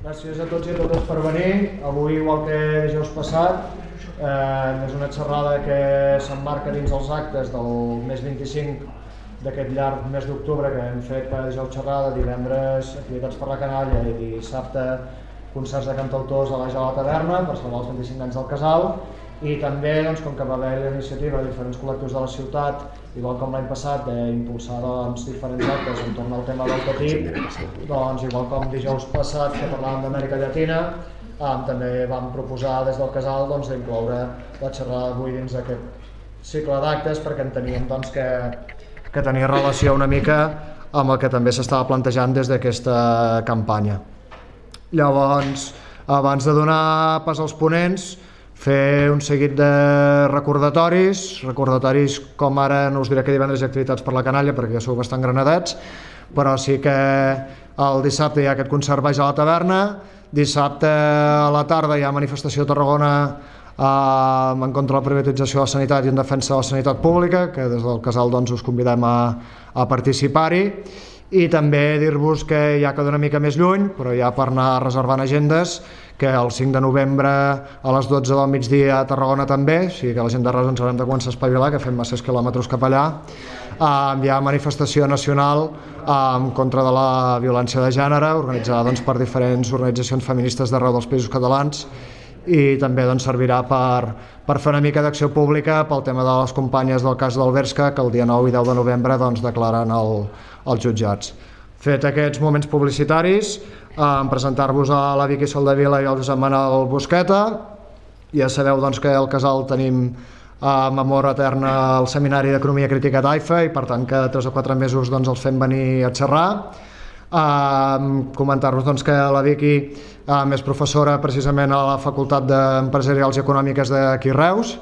Gràcies a tots i a totes per venir. Avui, igual que dijous passat, és una xerrada que s'emmarca dins els actes del mes 25 d'aquest llarg mes d'octubre que hem fet cada dijous xerrada, divendres activitats per la canalla i dissabte concerts de cantautors a la taverna per celebrar els 25 anys del casal. I també, com que va haver la iniciativa de diferents col·lectius de la ciutat, igual com l'any passat, d'impulsar diferents actes entorn al tema del petit, igual com dijous passat que parlàvem d'Amèrica Llatina, també vam proposar des del casal d'incloure la xerrada d'avui dins d'aquest cicle d'actes perquè enteníem que tenia relació una mica amb el que també s'estava plantejant des d'aquesta campanya. Llavors, abans de donar pas als ponents, fer un seguit de recordatoris com ara, no us diré que divendres hi ha activitats per la canalla perquè ja sou bastant granadets, però sí que el dissabte hi ha aquest concert baix a la taverna, dissabte a la tarda hi ha manifestació a Tarragona en contra de la privatització de la sanitat i en defensa de la sanitat pública, que des del casal us convidem a participar-hi. I també dir-vos que ja queda una mica més lluny, però ja per anar reservant agendes, que el 5 de novembre a les 12 del migdia a Tarragona també, o sigui que la gent de Reus ens haurem de començar a espavilar, que fem masses quilòmetres cap allà. Hi ha manifestació nacional en contra de la violència de gènere, organitzada per diferents organitzacions feministes d'arreu dels països catalans, i també servirà per fer una mica d'acció pública pel tema de les companyes del cas del Bershka, que el dia 9 i 10 de novembre declaren als jutjats. Fet aquests moments publicitaris, presentar-vos a la Vicky Soldevila i al Josep Manel Busqueta. Ja sabeu que al casal tenim amb amor etern el Seminari d'Economia Crítica Taifa i per tant cada 3 o 4 mesos els fem venir a xerrar. Comentar-vos que la Vicky és professora precisament a la Facultat d'Empresarials i Econòmiques d'aquí Reus,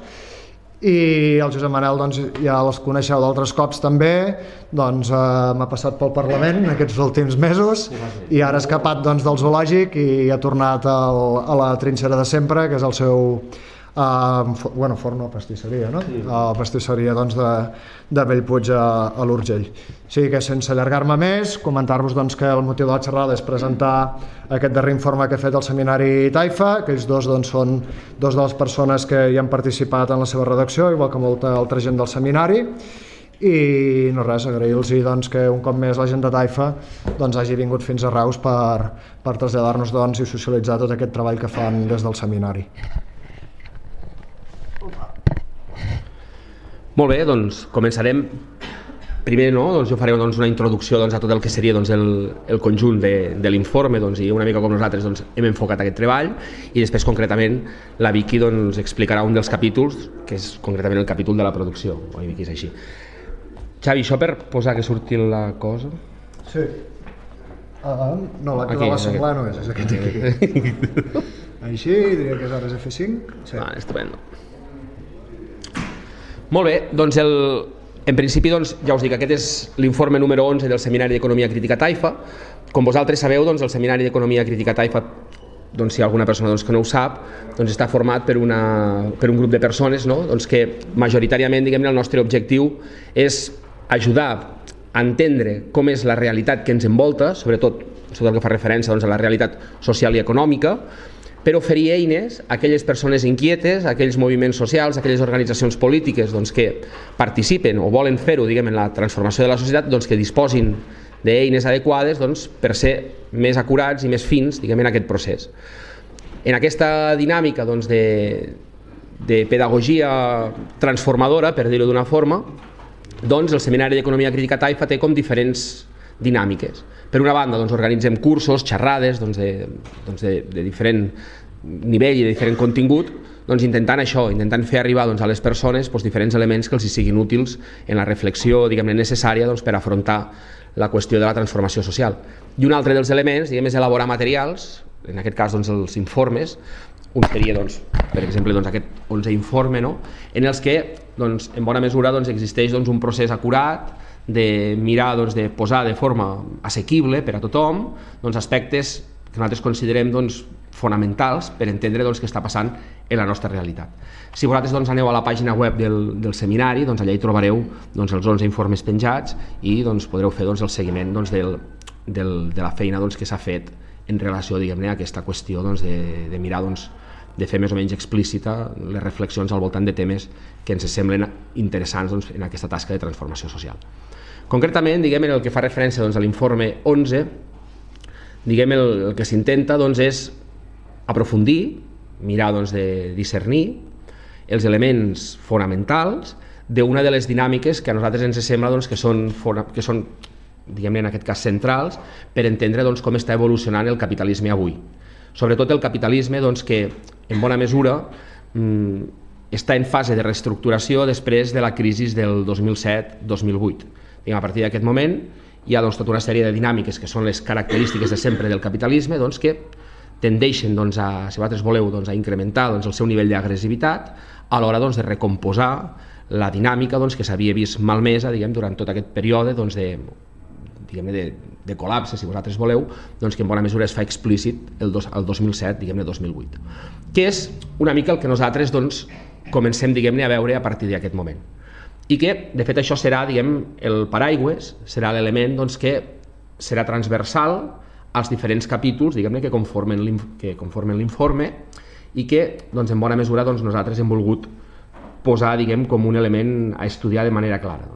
i el Josep Manel ja els coneixeu d'altres cops també, m'ha passat pel Parlament aquests últims mesos i ara ha escapat del zoològic i ha tornat a la trinxera de sempre, que és el seu forn o pastisseria, no? La pastisseria de Bellpuig a l'Urgell. O sigui que sense allargar-me més, comentar-vos que el motiu de la xerrada és presentar aquest darrer informe que ha fet el Seminari Taifa, que ells dos són dos de les persones que hi han participat en la seva redacció, igual que molta altra gent del seminari, i no res, agrair-los que un cop més la gent de Taifa hagi vingut fins a Reus per traslladar-nos i socialitzar tot aquest treball que fan des del seminari. Molt bé, començarem. Primer jo faré una introducció a tot el que seria el conjunt de l'informe i una mica com nosaltres hem enfocat aquest treball, i després concretament la Vicky explicarà un dels capítols, que és concretament el capítol de la producció. Oi, Vicky, és així. Xavi, això per posar que surti la cosa? Sí. No, la que de la senglar no és aquest aquí. Així, diria que és ara F5. Estupendo. Molt bé, en principi ja us dic, aquest és l'informe número 11 del Seminari d'Economia Crítica Taifa. Com vosaltres sabeu, el Seminari d'Economia Crítica Taifa, si hi ha alguna persona que no ho sap, està format per un grup de persones que majoritàriament el nostre objectiu és ajudar a entendre com és la realitat que ens envolta, sobretot el que fa referència a la realitat social i econòmica, per oferir eines a aquelles persones inquietes, a aquells moviments socials, a aquelles organitzacions polítiques que participen o volen fer-ho en la transformació de la societat, que disposin d'eines adequades per ser més acurats i més fins en aquest procés. En aquesta dinàmica de pedagogia transformadora, per dir-ho d'una forma, el Seminari d'Economia Crítica Taifa té com diferents dinàmiques. Per una banda, organitzem cursos, xerrades de diferent nivell i de diferent contingut, intentant fer arribar a les persones diferents elements que els siguin útils en la reflexió necessària per afrontar la qüestió de la transformació social. I un altre dels elements és elaborar materials, en aquest cas els informes. Un seria, per exemple, aquest 11è informe, en els que, en bona mesura, existeix un procés acurat de mirar, de posar de forma assequible per a tothom aspectes que nosaltres considerem fonamentals per entendre què està passant en la nostra realitat. Si vosaltres aneu a la pàgina web del seminari, allà hi trobareu els 11 informes penjats i podreu fer el seguiment de la feina que s'ha fet en relació, diguem-ne, a aquesta qüestió de mirar, de fer més o menys explícita les reflexions al voltant de temes que ens semblen interessants en aquesta tasca de transformació social. Concretament, diguem, en el que fa referència a l'informe 11, diguem, el que s'intenta és aprofundir, mirar de discernir els elements fonamentals d'una de les dinàmiques que a nosaltres ens sembla que són diguem-ne, en aquest cas centrals, per entendre com està evolucionant el capitalisme avui. Sobretot el capitalisme que, en bona mesura, està en fase de reestructuració després de la crisi del 2007-2008. A partir d'aquest moment hi ha tota una sèrie de dinàmiques que són les característiques de sempre del capitalisme que tendeixen, si vosaltres voleu, a incrementar el seu nivell d'agressivitat a l'hora de recomposar la dinàmica que s'havia vist malmesa durant tot aquest període de col·lapse, si vosaltres voleu, que en bona mesura es fa explícit el 2007-2008, que és una mica el que nosaltres comencem a veure a partir d'aquest moment. I que, de fet, això serà el paraigües, serà l'element que serà transversal als diferents capítols que conformen l'informe i que, en bona mesura, nosaltres hem volgut posar com un element a estudiar de manera clara.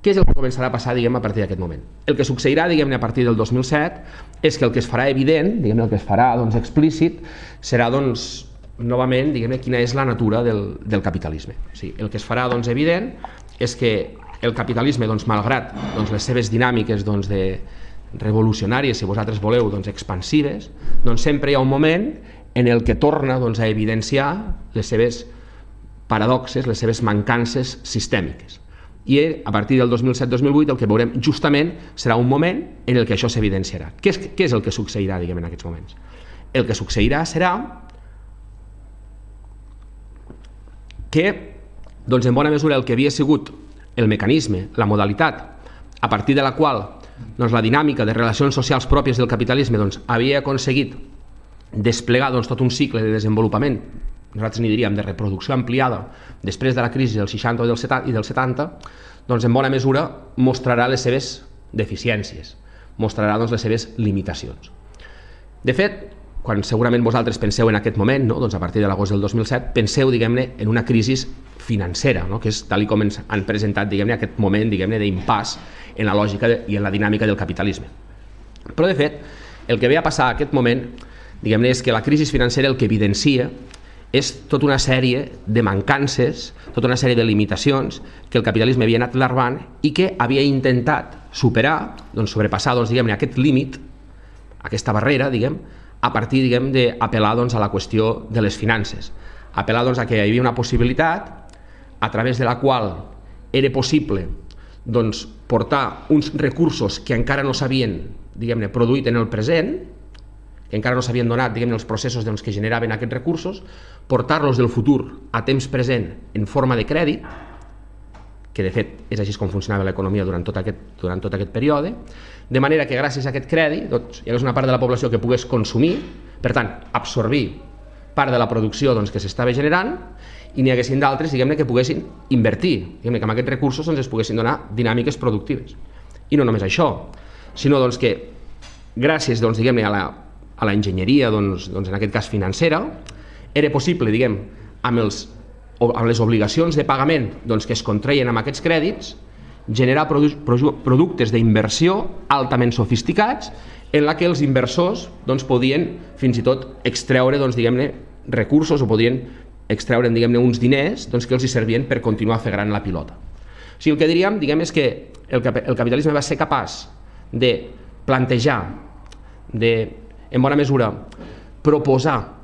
Què és el que començarà a passar a partir d'aquest moment? El que succeirà a partir del 2007 és que el que es farà evident, el que es farà explícit, serà novament quina és la natura del capitalisme. El que es farà evident és que el capitalisme, malgrat les seves dinàmiques revolucionàries, si vosaltres voleu, expansives, sempre hi ha un moment en el que torna a evidenciar les seves paradoxes, les seves mancances sistèmiques. I a partir del 2007-2008 el que veurem justament serà un moment en el que això s'evidenciarà. Què és el que succeirà en aquests moments? El que succeirà serà que, en bona mesura, el que havia sigut el mecanisme, la modalitat, a partir de la qual la dinàmica de relacions socials pròpies del capitalisme havia aconseguit desplegar tot un cicle de desenvolupament, nosaltres n'hi diríem de reproducció ampliada, després de la crisi del 60 i del 70, en bona mesura mostrarà les seves deficiències, mostrarà les seves limitacions. De fet, quan segurament vosaltres penseu en aquest moment, a partir de l'agost del 2007, penseu en una crisi financera, que és tal com ens han presentat aquest moment d'impàs en la lògica i en la dinàmica del capitalisme. Però, de fet, el que ve a passar a aquest moment és que la crisi financera el que evidencia és tota una sèrie de mancances, tota una sèrie de limitacions que el capitalisme havia anat larvant i que havia intentat superar, sobrepassar aquest límit, aquesta barrera, a partir d'apel·lar a la qüestió de les finances, apel·lar a que hi havia una possibilitat a través de la qual era possible portar uns recursos que encara no s'havien produït en el present, que encara no s'havien donat els processos que generaven aquests recursos, portar-los del futur a temps present en forma de crèdit, que de fet és així com funcionava l'economia durant tot aquest període, de manera que gràcies a aquest crèdit hi hagués una part de la població que pogués consumir, per tant, absorbir part de la producció que s'estava generant, i n'hi haguessin d'altres que poguessin invertir, que amb aquests recursos es poguessin donar dinàmiques productives. I no només això, sinó que gràcies a la enginyeria, en aquest cas financera, era possible, amb les obligacions de pagament que es contreien amb aquests crèdits, generar productes d'inversió altament sofisticats en la que els inversors podien fins i tot extreure recursos o podien extreure uns diners que els servien per continuar a fer gran la pilota. O sigui, el que diríem és que el capitalisme va ser capaç de plantejar, en bona mesura, proposar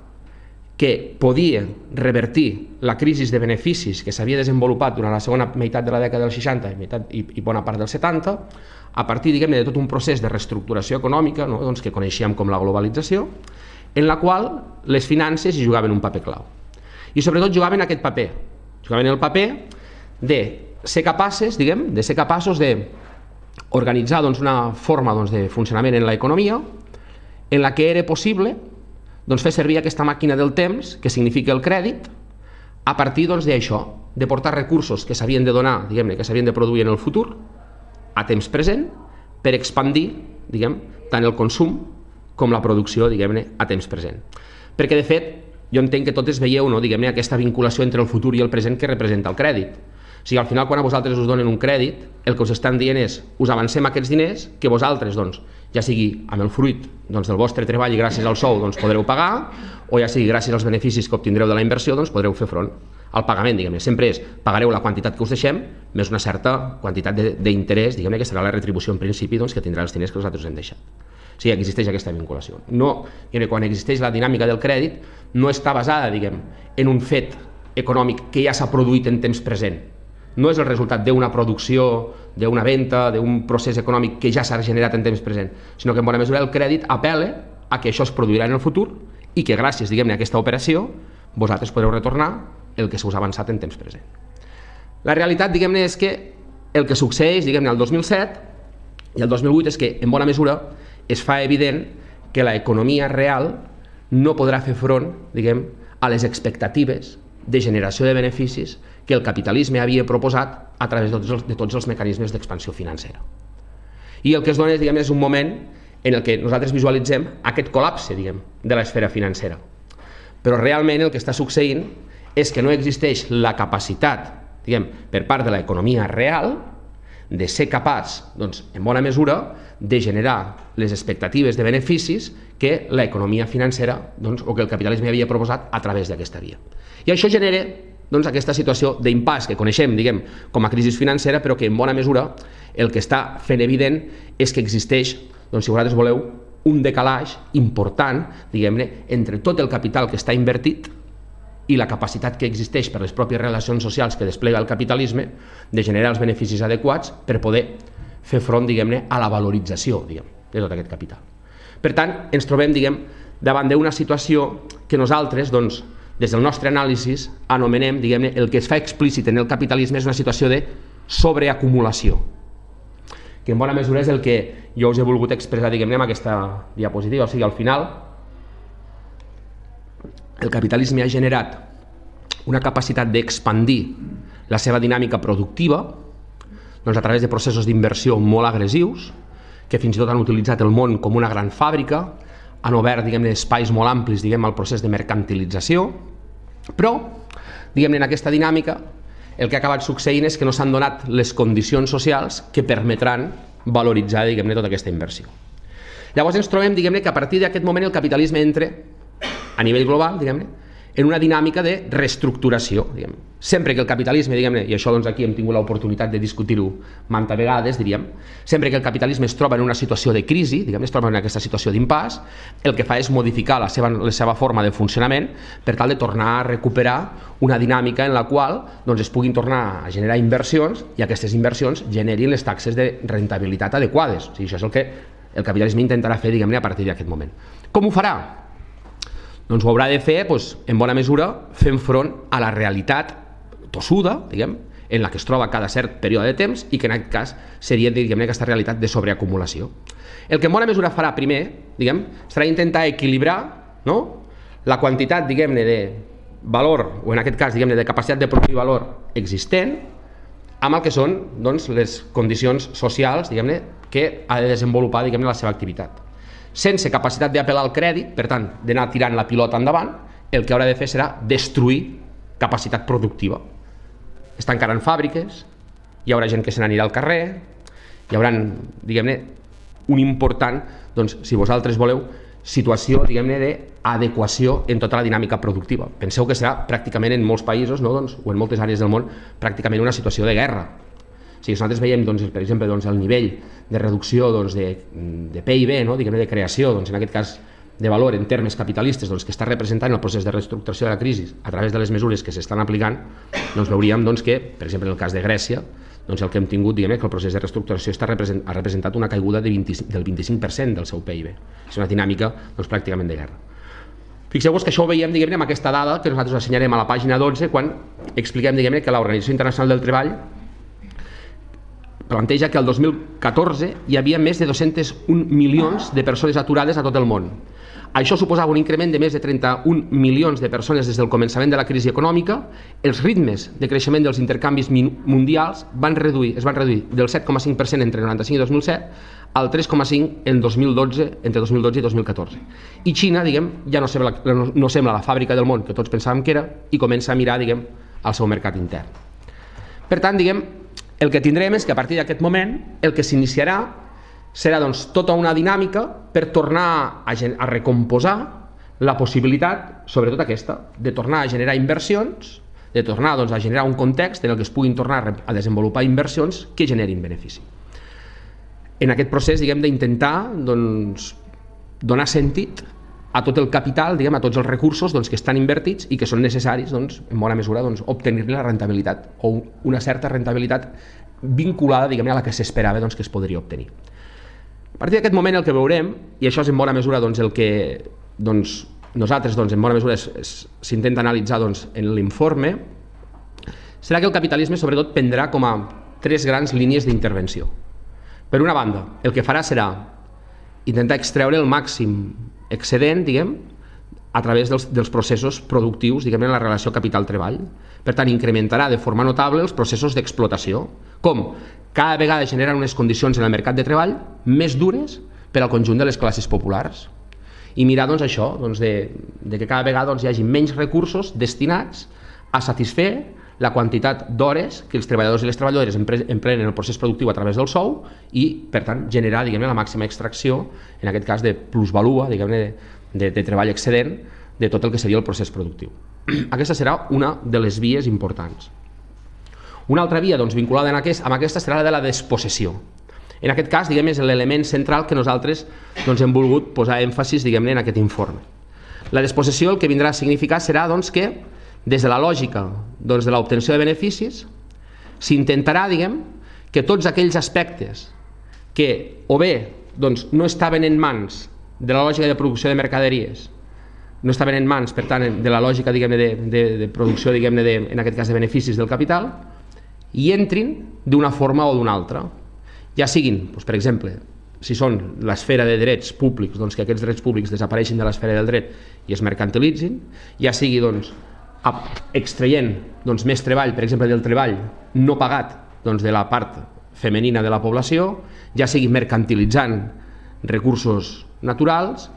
que podia revertir la crisi de beneficis que s'havia desenvolupat durant la segona meitat de la dècada dels 60 i bona part dels 70, a partir de tot un procés de reestructuració econòmica que coneixíem com la globalització, en la qual les finances hi jugaven un paper clau. I sobretot jugaven aquest paper, jugaven el paper de ser capaços d'organitzar una forma de funcionament en l'economia en la que era possible fer servir aquesta màquina del temps, que significa el crèdit, a partir d'això, de portar recursos que s'havien de donar, que s'havien de produir en el futur, a temps present, per expandir tant el consum com la producció, diguem-ne, a temps present. Perquè, de fet, jo entenc que totes veieu, no, diguem-ne, aquesta vinculació entre el futur i el present que representa el crèdit. O sigui, al final, quan a vosaltres us donen un crèdit, el que us estan dient és, us avancem aquests diners que vosaltres, doncs, ja sigui amb el fruit del vostre treball i gràcies al sou podreu pagar, o ja sigui gràcies als beneficis que obtindreu de la inversió, podreu fer front al pagament, diguem-ne. Sempre és, pagareu la quantitat que us deixem, més una certa quantitat d'interès, diguem-ne, que serà la retribució en principi que tindrà els diners que nosaltres us hem deixat. O sigui, existeix aquesta vinculació. No, quan existeix la dinàmica del crèdit, no està basada, diguem, en un fet econòmic que ja s'ha produït en temps present. No és el resultat d'una producció, d'una venda, d'un procés econòmic que ja s'ha generat en temps present, sinó que en bona mesura el crèdit apel·la a que això es produirà en el futur i que gràcies, diguem-ne, a aquesta operació vosaltres podreu retornar el que s'us ha avançat en temps present. La realitat, diguem-ne, és que el que succeeix, diguem-ne, el 2007 i el 2008 és que, en bona mesura, es fa evident que l'economia real no podrà fer front, diguem, a les expectatives de generació de beneficis que el capitalisme havia proposat a través de tots els mecanismes d'expansió financera. I el que es dona, diguem, és un moment en el que nosaltres visualitzem aquest col·lapse, diguem, de l'esfera financera. Però realment el que està succeint és que no existeix la capacitat, diguem, per part de l'economia real de ser capaç, doncs, en bona mesura, de generar les expectatives de beneficis que l'economia financera, doncs, o que el capitalisme havia proposat a través d'aquesta via. I això genera, doncs, aquesta situació d'impàs que coneixem, diguem, com a crisi financera, però que en bona mesura el que està fent evident és que existeix, doncs, si vosaltres voleu, un decalatge important, diguem-ne, entre tot el capital que està invertit i la capacitat que existeix per les pròpies relacions socials que desplega el capitalisme de generar els beneficis adequats per poder fer front, diguem-ne, a la valorització, diguem, de tot aquest capital. Per tant, ens trobem, diguem, davant d'una situació que nosaltres, doncs, des del nostre anàlisi, anomenem, diguem-ne, el que es fa explícit en el capitalisme és una situació de sobreacumulació, que en bona mesura és el que jo us he volgut expressar, diguem-ne, amb aquesta diapositiva. O sigui, al final, el capitalisme ha generat una capacitat d'expandir la seva dinàmica productiva, doncs, a través de processos d'inversió molt agressius, que fins i tot han utilitzat el món com una gran fàbrica, han obert, diguem-ne, espais molt amplis, diguem, al procés de mercantilització, però, diguem-ne, en aquesta dinàmica, el que ha acabat succeint és que no s'han donat les condicions socials que permetran valoritzar, diguem-ne, tota aquesta inversió. Llavors ens trobem, diguem-ne, que a partir d'aquest moment el capitalisme entra, a nivell global, diguem-ne, en una dinàmica de reestructuració. Sempre que el capitalisme, diguem-ne, i això doncs aquí hem tingut l'oportunitat de discutir-ho manta vegades, diríem, sempre que el capitalisme es troba en una situació de crisi, diguem-ne, es troba en aquesta situació d'impàs, el que fa és modificar la seva forma de funcionament per tal de tornar a recuperar una dinàmica en la qual doncs, es puguin tornar a generar inversions i aquestes inversions generin les taxes de rentabilitat adequades. O sigui, això és el que el capitalisme intentarà fer, diguem-ne, a partir d'aquest moment. Com ho farà? Doncs ho haurà de fer, en bona mesura, fent front a la realitat tossuda, diguem, en la que es troba cada cert període de temps i que en aquest cas seria, diguem-ne, aquesta realitat de sobreacumulació. El que en bona mesura farà primer, diguem, serà intentar equilibrar, no?, la quantitat, diguem-ne, de valor, o en aquest cas, diguem-ne, de capacitat de produir valor existent, amb el que són, doncs, les condicions socials, diguem-ne, que ha de desenvolupar, diguem-ne, la seva activitat. Sense capacitat d'apel·lar al crèdit, per tant, d'anar tirant la pilota endavant, el que haurà de fer serà destruir capacitat productiva. Es tancaran fàbriques, hi haurà gent que se n'anirà al carrer, hi haurà, diguem-ne, un important, doncs, si vosaltres voleu, situació, diguem-ne, d'adequació en tota la dinàmica productiva. Penseu que serà pràcticament en molts països, no, doncs, o en moltes àrees del món, pràcticament una situació de guerra. Si nosaltres veiem, doncs, per exemple, doncs, el nivell de reducció doncs, de PIB, no? Diguem-ne, de creació, doncs, en aquest cas de valor en termes capitalistes, doncs, que està representant el procés de reestructuració de la crisi a través de les mesures que s'estan aplicant, doncs veuríem doncs, que, per exemple, en el cas de Grècia, doncs, el que hem tingut, diguem-ne, que el procés de reestructuració ha representat una caiguda del 25% del seu PIB. És una dinàmica doncs, pràcticament de guerra. Fixeu-vos que això ho veiem, diguem-ne, amb aquesta dada que nosaltres assenyalem a la pàgina 12 quan expliquem, diguem-ne, que l'Organització Internacional del Treball planteja que el 2014 hi havia més de 201 milions de persones aturades a tot el món. Això suposava un increment de més de 31 milions de persones des del començament de la crisi econòmica. Els ritmes de creixement dels intercanvis mundials es van reduir del 7,5% entre 1995 i 2007 al 3,5% entre 2012 i 2014. I Xina, ja no sembla la fàbrica del món que tots pensàvem que era i comença a mirar, al seu mercat intern. Per tant, el que tindrem és que a partir d'aquest moment el que s'iniciarà serà tota una dinàmica per tornar a recomposar la possibilitat, sobretot aquesta, de tornar a generar inversions, de tornar a generar un context en el que es puguin tornar a desenvolupar inversions que generin benefici. En aquest procés d'intentar donar sentit a tot el capital, a tots els recursos que estan invertits i que són necessaris, en bona mesura, obtenir-ne la rentabilitat o una certa rentabilitat vinculada a la que s'esperava que es podria obtenir. A partir d'aquest moment el que veurem, i això és en bona mesura el que nosaltres en bona mesura s'intenta analitzar en l'informe, serà que el capitalisme sobretot prendrà com a 3 grans línies d'intervenció. Per una banda, el que farà serà intentar extreure el màxim excedent a través dels processos productius en la relació capital-treball. Per tant, incrementarà de forma notable els processos d'explotació, com cada vegada generen unes condicions en el mercat de treball més dures per al conjunt de les classes populars. I mirar això, de que cada vegada hi hagi menys recursos destinats a satisfer la quantitat d'hores que els treballadors i les treballadores empleen en el procés productiu a través del sou i, per tant, generar la màxima extracció, en aquest cas de plusvalua, de treball excedent, de tot el que seria el procés productiu. Aquesta serà una de les vies importants. Una altra via vinculada amb aquesta serà la de la despossessió. En aquest cas, és l'element central que nosaltres hem volgut posar èmfasis en aquest informe. La despossessió el que vindrà a significar serà que, des de la lògica de l'obtenció de beneficis, s'intentarà que tots aquells aspectes que o bé no estaven en mans de la lògica de producció de mercaderies, no estaven en mans, per tant, de la lògica de producció, en aquest cas de beneficis del capital, i entrin d'una forma o d'una altra. Ja siguin, per exemple, si són l'esfera de drets públics, que aquests drets públics desapareixin de l'esfera del dret i es mercantilitzin, ja sigui extraient més treball, per exemple, del treball no pagat de la part femenina de la població, ja sigui mercantilitzant recursos naturals,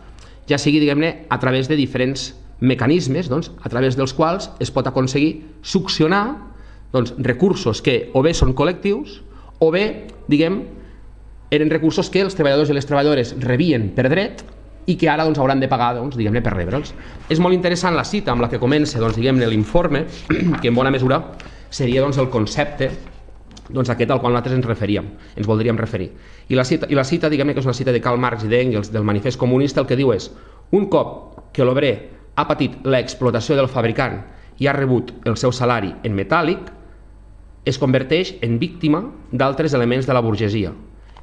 ja sigui a través de diferents mecanismes a través dels quals es pot aconseguir succionar recursos que o bé són col·lectius o bé eren recursos que els treballadors i les treballadores rebien per dret i que ara hauran de pagar per rebre'ls. És molt interessant la cita amb la que comença l'informe, que en bona mesura seria el concepte aquest al qual nosaltres ens voldríem referir. I la cita, que és una cita de Karl Marx i d'Engels del Manifest Comunista, el que diu és: un cop que l'obrer ha patit l'explotació del fabricant i ha rebut el seu salari en metàl·lic, es converteix en víctima d'altres elements de la burgesia: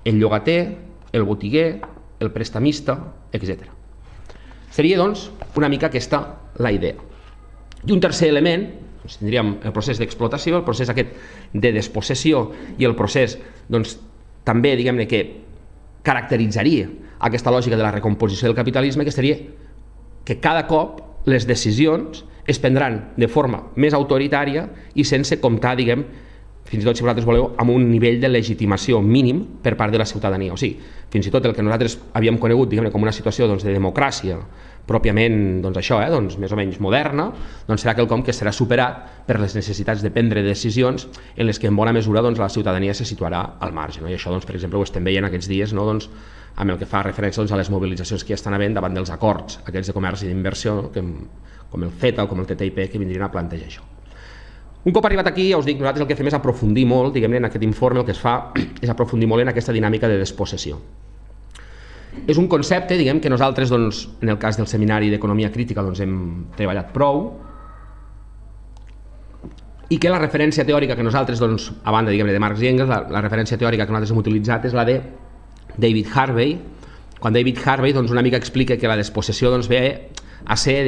el llogater, el botiguer, el prestamista, etc. Seria, una mica aquesta la idea. I un tercer element, tindríem el procés d'explotació, el procés aquest de despossessió i el procés, també, que caracteritzaria aquesta lògica de la recomposició del capitalisme, que seria que cada cop les decisions es prendran de forma més autoritària i sense comptar, fins i tot, si vosaltres voleu, amb un nivell de legitimació mínim per part de la ciutadania. O sigui, fins i tot el que nosaltres havíem conegut com una situació de democràcia pròpiament, més o menys moderna, serà quelcom que serà superat per les necessitats de prendre decisions en les que en bona mesura la ciutadania se situarà al marge. I això, per exemple, ho estem veient aquests dies amb el que fa referència a les mobilitzacions que hi estan havent davant dels acords aquests de comerç i d'inversió, com el CETA o com el TTIP, que vindrien a plantejar això. Un cop arribat aquí, ja us dic, nosaltres el que fem és aprofundir molt, en aquest informe el que es fa és aprofundir molt en aquesta dinàmica de despossessió. És un concepte, que nosaltres, en el cas del Seminari d'Economia Crítica, hem treballat prou, i que la referència teòrica que nosaltres, a banda de Marx i Engels, la referència teòrica que nosaltres hem utilitzat és la de David Harvey, quan David Harvey una mica explica que la despossessió ve a ser,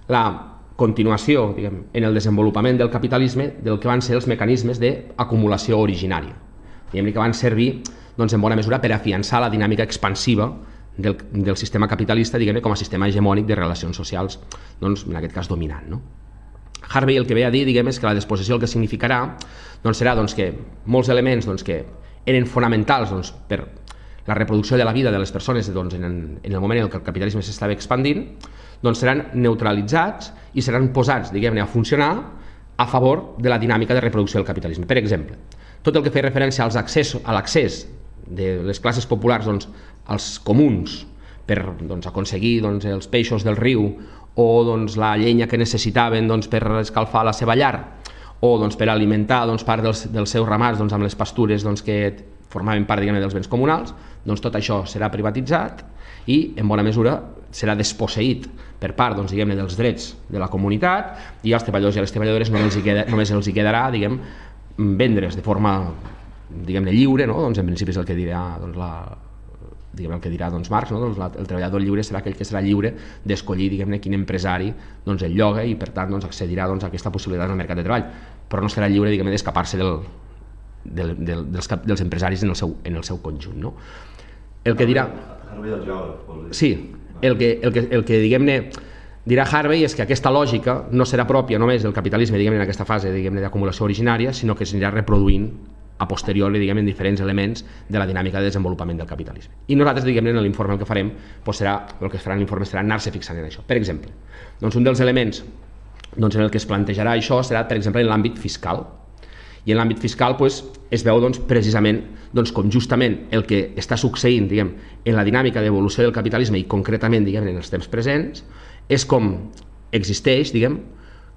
la continuació en el desenvolupament del capitalisme del que van ser els mecanismes d'acumulació originària, que van servir en bona mesura per afiançar la dinàmica expansiva del sistema capitalista, diguem-ne, com a sistema hegemònic de relacions socials, doncs, en aquest cas dominant, no? Harvey el que ve a dir, diguem, és que la despossessió el que significarà serà que molts elements que eren fonamentals per la reproducció de la vida de les persones en el moment en què el capitalisme s'estava expandint, seran neutralitzats i seran posats, diguem-ne, a funcionar a favor de la dinàmica de reproducció del capitalisme. Per exemple, tot el que feia referència a l'accés de les classes populars als comuns per aconseguir els peixos del riu o la llenya que necessitaven per escalfar la seva llar o per alimentar part dels seus ramats amb les pastures que formaven part dels béns comunals, tot això serà privatitzat i en bona mesura serà desposseït per part dels drets de la comunitat, i als treballadors i a les treballadores només els hi quedarà vendre's de forma lliure, en principi és el que dirà Marx, el treballador lliure serà aquell que serà lliure d'escollir quin empresari el lloga i per tant accedirà a aquesta possibilitat al mercat de treball, però no serà lliure d'escapar-se dels empresaris en el seu conjunt. El que dirà... Sí, el que dirà Harvey és que aquesta lògica no serà pròpia només del capitalisme en aquesta fase d'acumulació originària, sinó que s'anirà reproduint a posteriori en diferents elements de la dinàmica de desenvolupament del capitalisme. I nosaltres en l'informe el que farem, el que es farà en l'informe serà anar-se fixant en això. Per exemple, un dels elements en el que es plantejarà això serà, per exemple, en l'àmbit fiscal. I en l'àmbit fiscal es veu precisament com justament el que està succeint en la dinàmica d'evolució del capitalisme i concretament en els temps presents és com existeix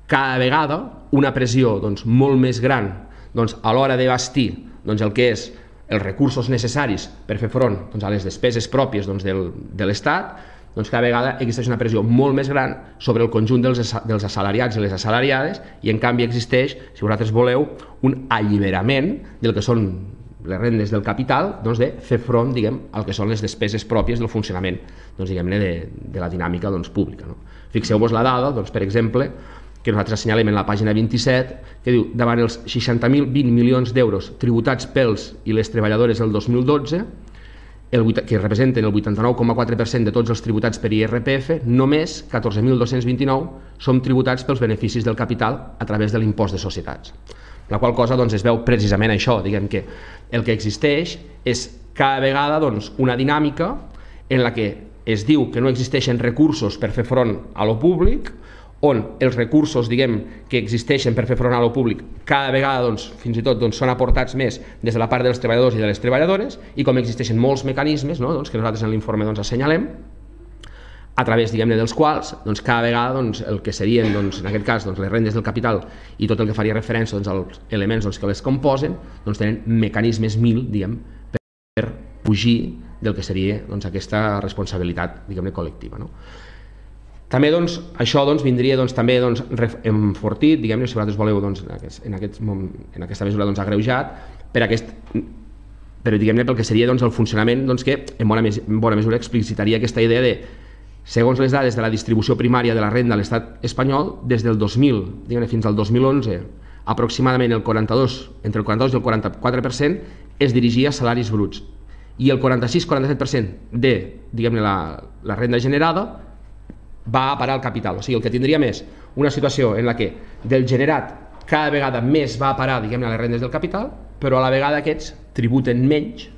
cada vegada una pressió molt més gran a l'hora de bastir el que és els recursos necessaris per fer front a les despeses pròpies de l'Estat. Cada vegada existeix una pressió molt més gran sobre el conjunt dels assalariats i les assalariades i en canvi existeix, si vosaltres voleu, un alliberament del que són les rendes del capital de fer front al que són les despeses pròpies del funcionament de la dinàmica pública. Fixeu-vos la dada, per exemple, que nosaltres assenyalem en la pàgina 27, que diu, davant els 60.020 milions d'euros tributats pels i les treballadores del 2012, que representen el 89,4% de tots els tributats per IRPF, només 14.229 són tributats pels beneficis del capital a través de l'impost de societats. La qual cosa es veu precisament això, que el que existeix és cada vegada una dinàmica en la que es diu que no existeixen recursos per fer front a lo públic, on els recursos que existeixen per fer front a lo públic cada vegada fins i tot són aportats més des de la part dels treballadors i de les treballadores, i com existeixen molts mecanismes que nosaltres en l'informe assenyalem, a través dels quals cada vegada el que serien en aquest cas les rendes del capital i tot el que faria referència als elements que les composen tenen mecanismes per fugir del que seria aquesta responsabilitat col·lectiva. També això vindria també enfortit, si vosaltres voleu, en aquesta mesura agreujat pel que seria el funcionament que en bona mesura explicitaria aquesta idea de, segons les dades de la distribució primària de la renda a l'estat espanyol, des del 2000 fins al 2011, aproximadament entre el 42 i el 44% es dirigia a salaris bruts i el 46-47% de la renda generada va a parar al capital. O sigui, el que tindríem és una situació en la que del generat cada vegada més va a parar a les rendes del capital, però a la vegada aquests tributen menys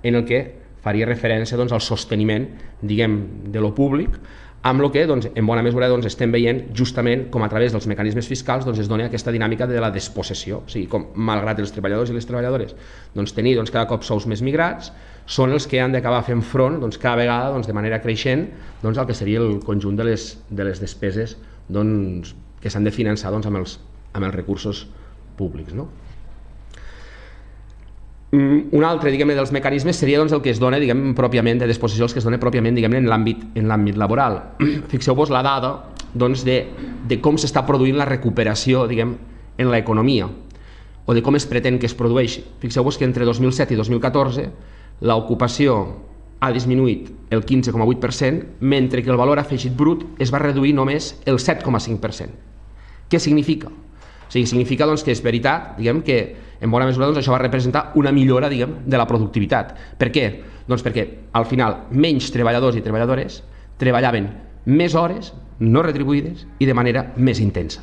en el que faria referència al sosteniment de lo públic, amb el que en bona mesura estem veient justament com a través dels mecanismes fiscals es dona aquesta dinàmica de la despossessió. O sigui, com malgrat els treballadors i les treballadores tenir cada cop sous més migrats, són els que han d'acabar fent front cada vegada de manera creixent al que seria el conjunt de les despeses que s'han de finançar amb els recursos públics. Un altre dels mecanismes seria el que es dona pròpiament de despossessió, els que es dona pròpiament en l'àmbit laboral. Fixeu-vos la dada de com s'està produint la recuperació en l'economia o de com es pretén que es produeixi. Fixeu-vos que entre 2007 i 2014 l'ocupació ha disminuït el 15,8%, mentre que el valor afegit brut es va reduir només el 7,5%. Què significa? O sigui, significa que és veritat, que en bona mesura això va representar una millora de la productivitat. Per què? Doncs perquè al final menys treballadors i treballadores treballaven més hores no retribuïdes i de manera més intensa.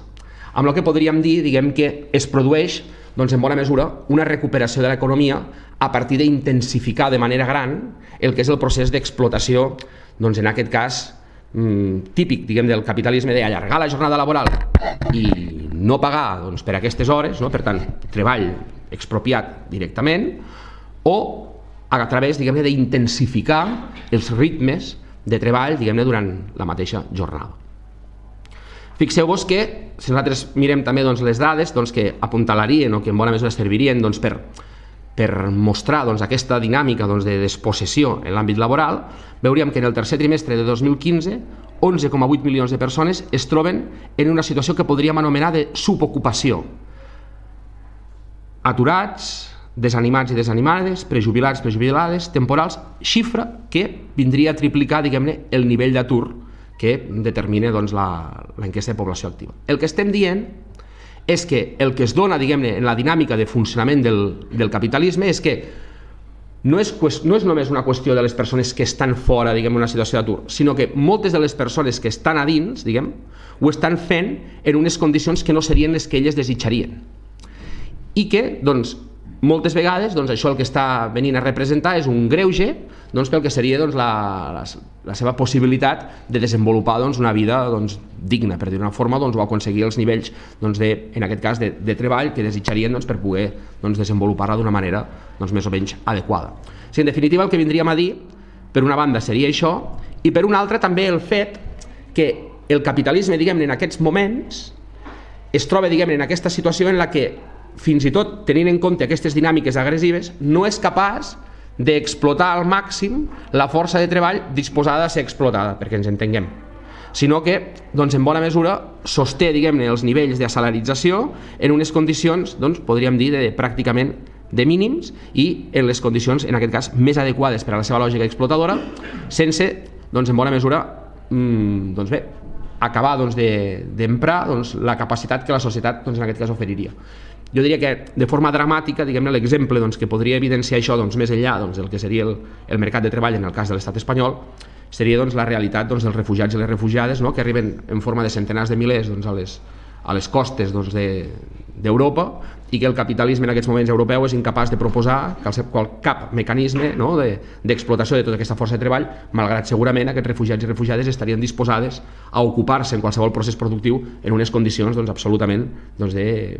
Amb el que podríem dir que es produeix en bona mesura una recuperació de l'economia a partir d'intensificar de manera gran el que és el procés d'explotació, en aquest cas típic del capitalisme, d'allargar la jornada laboral i no pagar per aquestes hores, per tant, treball expropiat directament, o a través d'intensificar els ritmes de treball durant la mateixa jornada. Fixeu-vos que, si nosaltres mirem també les dades que apuntalarien o que en bona mesura servirien per mostrar aquesta dinàmica de despossessió en l'àmbit laboral, veuríem que en el tercer trimestre de 2015 11,8 milions de persones es troben en una situació que podríem anomenar de subocupació. Aturats, desanimats i desanimades, prejubilats, prejubilades, temporals, xifra que vindria a triplicar el nivell d'atur que determina l'enquesta de població activa. El que estem dient és que el que es dona en la dinàmica de funcionament del capitalisme és que no és només una qüestió de les persones que estan fora d'una situació d'atur, sinó que moltes de les persones que estan a dins ho estan fent en unes condicions que no serien les que elles desitjarien i que moltes vegades això el que està venint a representar és un greuge pel que seria la seva possibilitat de desenvolupar una vida digna, per dir-ho d'una forma, o aconseguir els nivells, en aquest cas, de treball que desitjarien per poder desenvolupar-la d'una manera més o menys adequada. En definitiva, el que vindríem a dir, per una banda, seria això, i per una altra també el fet que el capitalisme, en aquests moments, es troba en aquesta situació en la que, fins i tot tenint en compte aquestes dinàmiques agressives, no és capaç d'explotar al màxim la força de treball disposada a ser explotada, perquè ens entenguem, sinó que en bona mesura sosté els nivells de salarització en unes condicions, podríem dir, pràcticament de mínims i en les condicions, en aquest cas, més adequades per a la seva lògica explotadora, sense, en bona mesura, acabar d'emprar la capacitat que la societat, en aquest cas, oferiria. Jo diria que, de forma dramàtica, l'exemple que podria evidenciar això més enllà del que seria el mercat de treball en el cas de l'estat espanyol, seria la realitat dels refugiats i les refugiades que arriben en forma de centenars de milers a les costes d'Europa i que el capitalisme en aquests moments europeu és incapaç de proposar cap mecanisme d'explotació de tota aquesta força de treball, malgrat segurament aquests refugiats i refugiades estarien disposades a ocupar-se en qualsevol procés productiu en unes condicions absolutament de,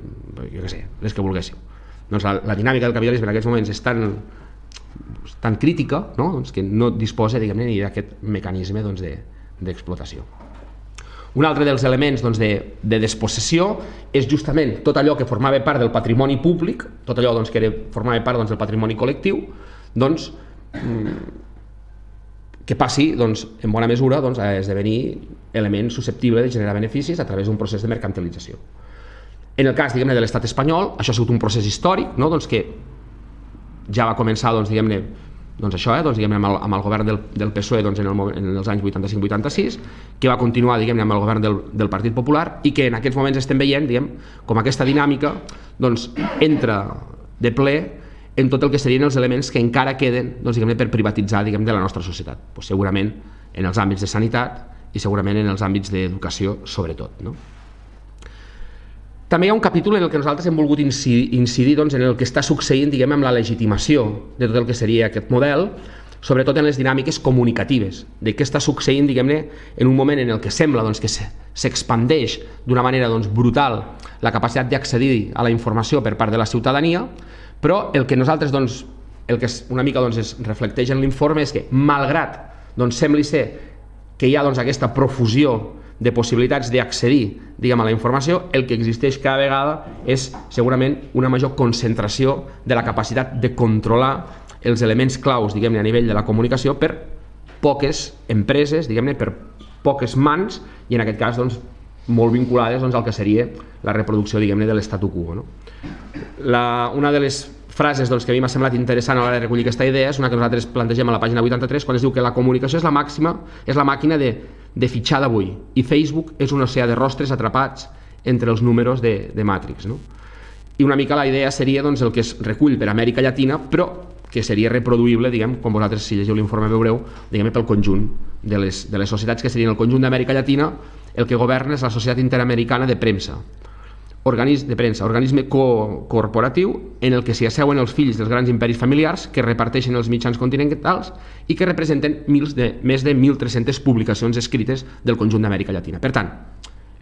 jo què sé, les que volguéssim. La dinàmica del capitalisme en aquests moments és tan crítica que no disposa ni d'aquest mecanisme d'explotació. Un altre dels elements de despossessió és justament tot allò que formava part del patrimoni públic, tot allò que formava part del patrimoni col·lectiu, que passi en bona mesura a esdevenir element susceptible de generar beneficis a través d'un procés de mercantilització. En el cas de l'estat espanyol, això ha sigut un procés històric que ja va començar amb el govern del PSOE en els anys 85-86, que va continuar amb el govern del Partit Popular i que en aquests moments estem veient com aquesta dinàmica entra de ple en tot el que serien els elements que encara queden per privatitzar de la nostra societat, segurament en els àmbits de sanitat i segurament en els àmbits d'educació sobretot. També hi ha un capítol en el que nosaltres hem volgut incidir en el que està succeint amb la legitimació de tot el que seria aquest model, sobretot en les dinàmiques comunicatives, de què està succeint en un moment en el que sembla que s'expandeix d'una manera brutal la capacitat d'accedir a la informació per part de la ciutadania, però el que nosaltres el que una mica es reflecteix en l'informe és que, malgrat sembli ser que hi ha aquesta profusió de possibilitats d'accedir a la informació, el que existeix cada vegada és segurament una major concentració de la capacitat de controlar els elements claus a nivell de la comunicació per poques empreses, per poques mans i en aquest cas molt vinculades al que seria la reproducció de l'statu quo. Una de les frases que a mi m'ha semblat interessant a l'hora de recollir aquesta idea és una que nosaltres plantegem a la pàgina 83 quan es diu que la comunicació és la màquina de fitxar d'avui i Facebook és un oceà de rostres atrapats entre els números de Matrix. I una mica la idea seria el que es recull per Amèrica Llatina, però que seria reproduïble, com vosaltres, si llegiu l'informe veureu, pel conjunt de les societats que serien el conjunt d'Amèrica Llatina. El que governa és la Societat Interamericana de Premsa, organisme corporatiu en el que s'hi asseuen els fills dels grans imperis familiars que reparteixen els mitjans continentals i que representen més de 1.300 publicacions escrites del conjunt d'Amèrica Llatina. Per tant,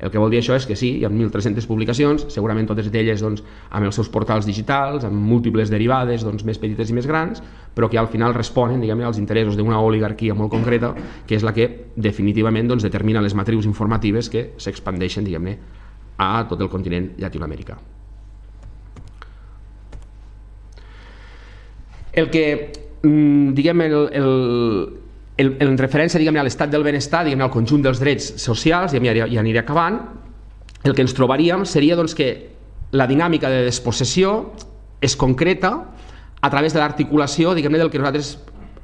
el que vol dir això és que sí, hi ha 1.300 publicacions, segurament totes d'elles amb els seus portals digitals, amb múltiples derivades més petites i més grans, però que al final responen als interessos d'una oligarquia molt concreta, que és la que definitivament determina les matrius informatives que s'expandeixen a tot el continent llatinoamericà. El que, en referència a l'estat del benestar, al conjunt dels drets socials, i aniré acabant, el que ens trobaríem seria que la dinàmica de despossessió es concreta a través de l'articulació del que nosaltres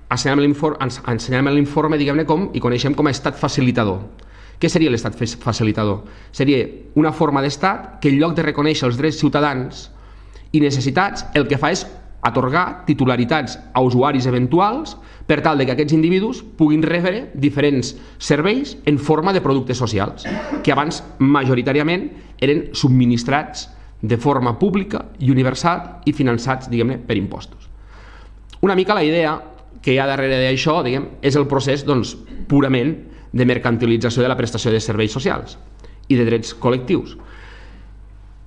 ensenyem en l'informe i coneixem com a estat facilitador. Què seria l'estat facilitador? Seria una forma d'estat que en lloc de reconèixer els drets ciutadans i necessitats, el que fa és atorgar titularitats a usuaris eventuals per tal que aquests individus puguin rebre diferents serveis en forma de productes socials, que abans majoritàriament eren subministrats de forma pública i universal i finançats, per impostos. Una mica la idea que hi ha darrere d'això és el procés purament de mercantilització de la prestació de serveis socials i de drets col·lectius.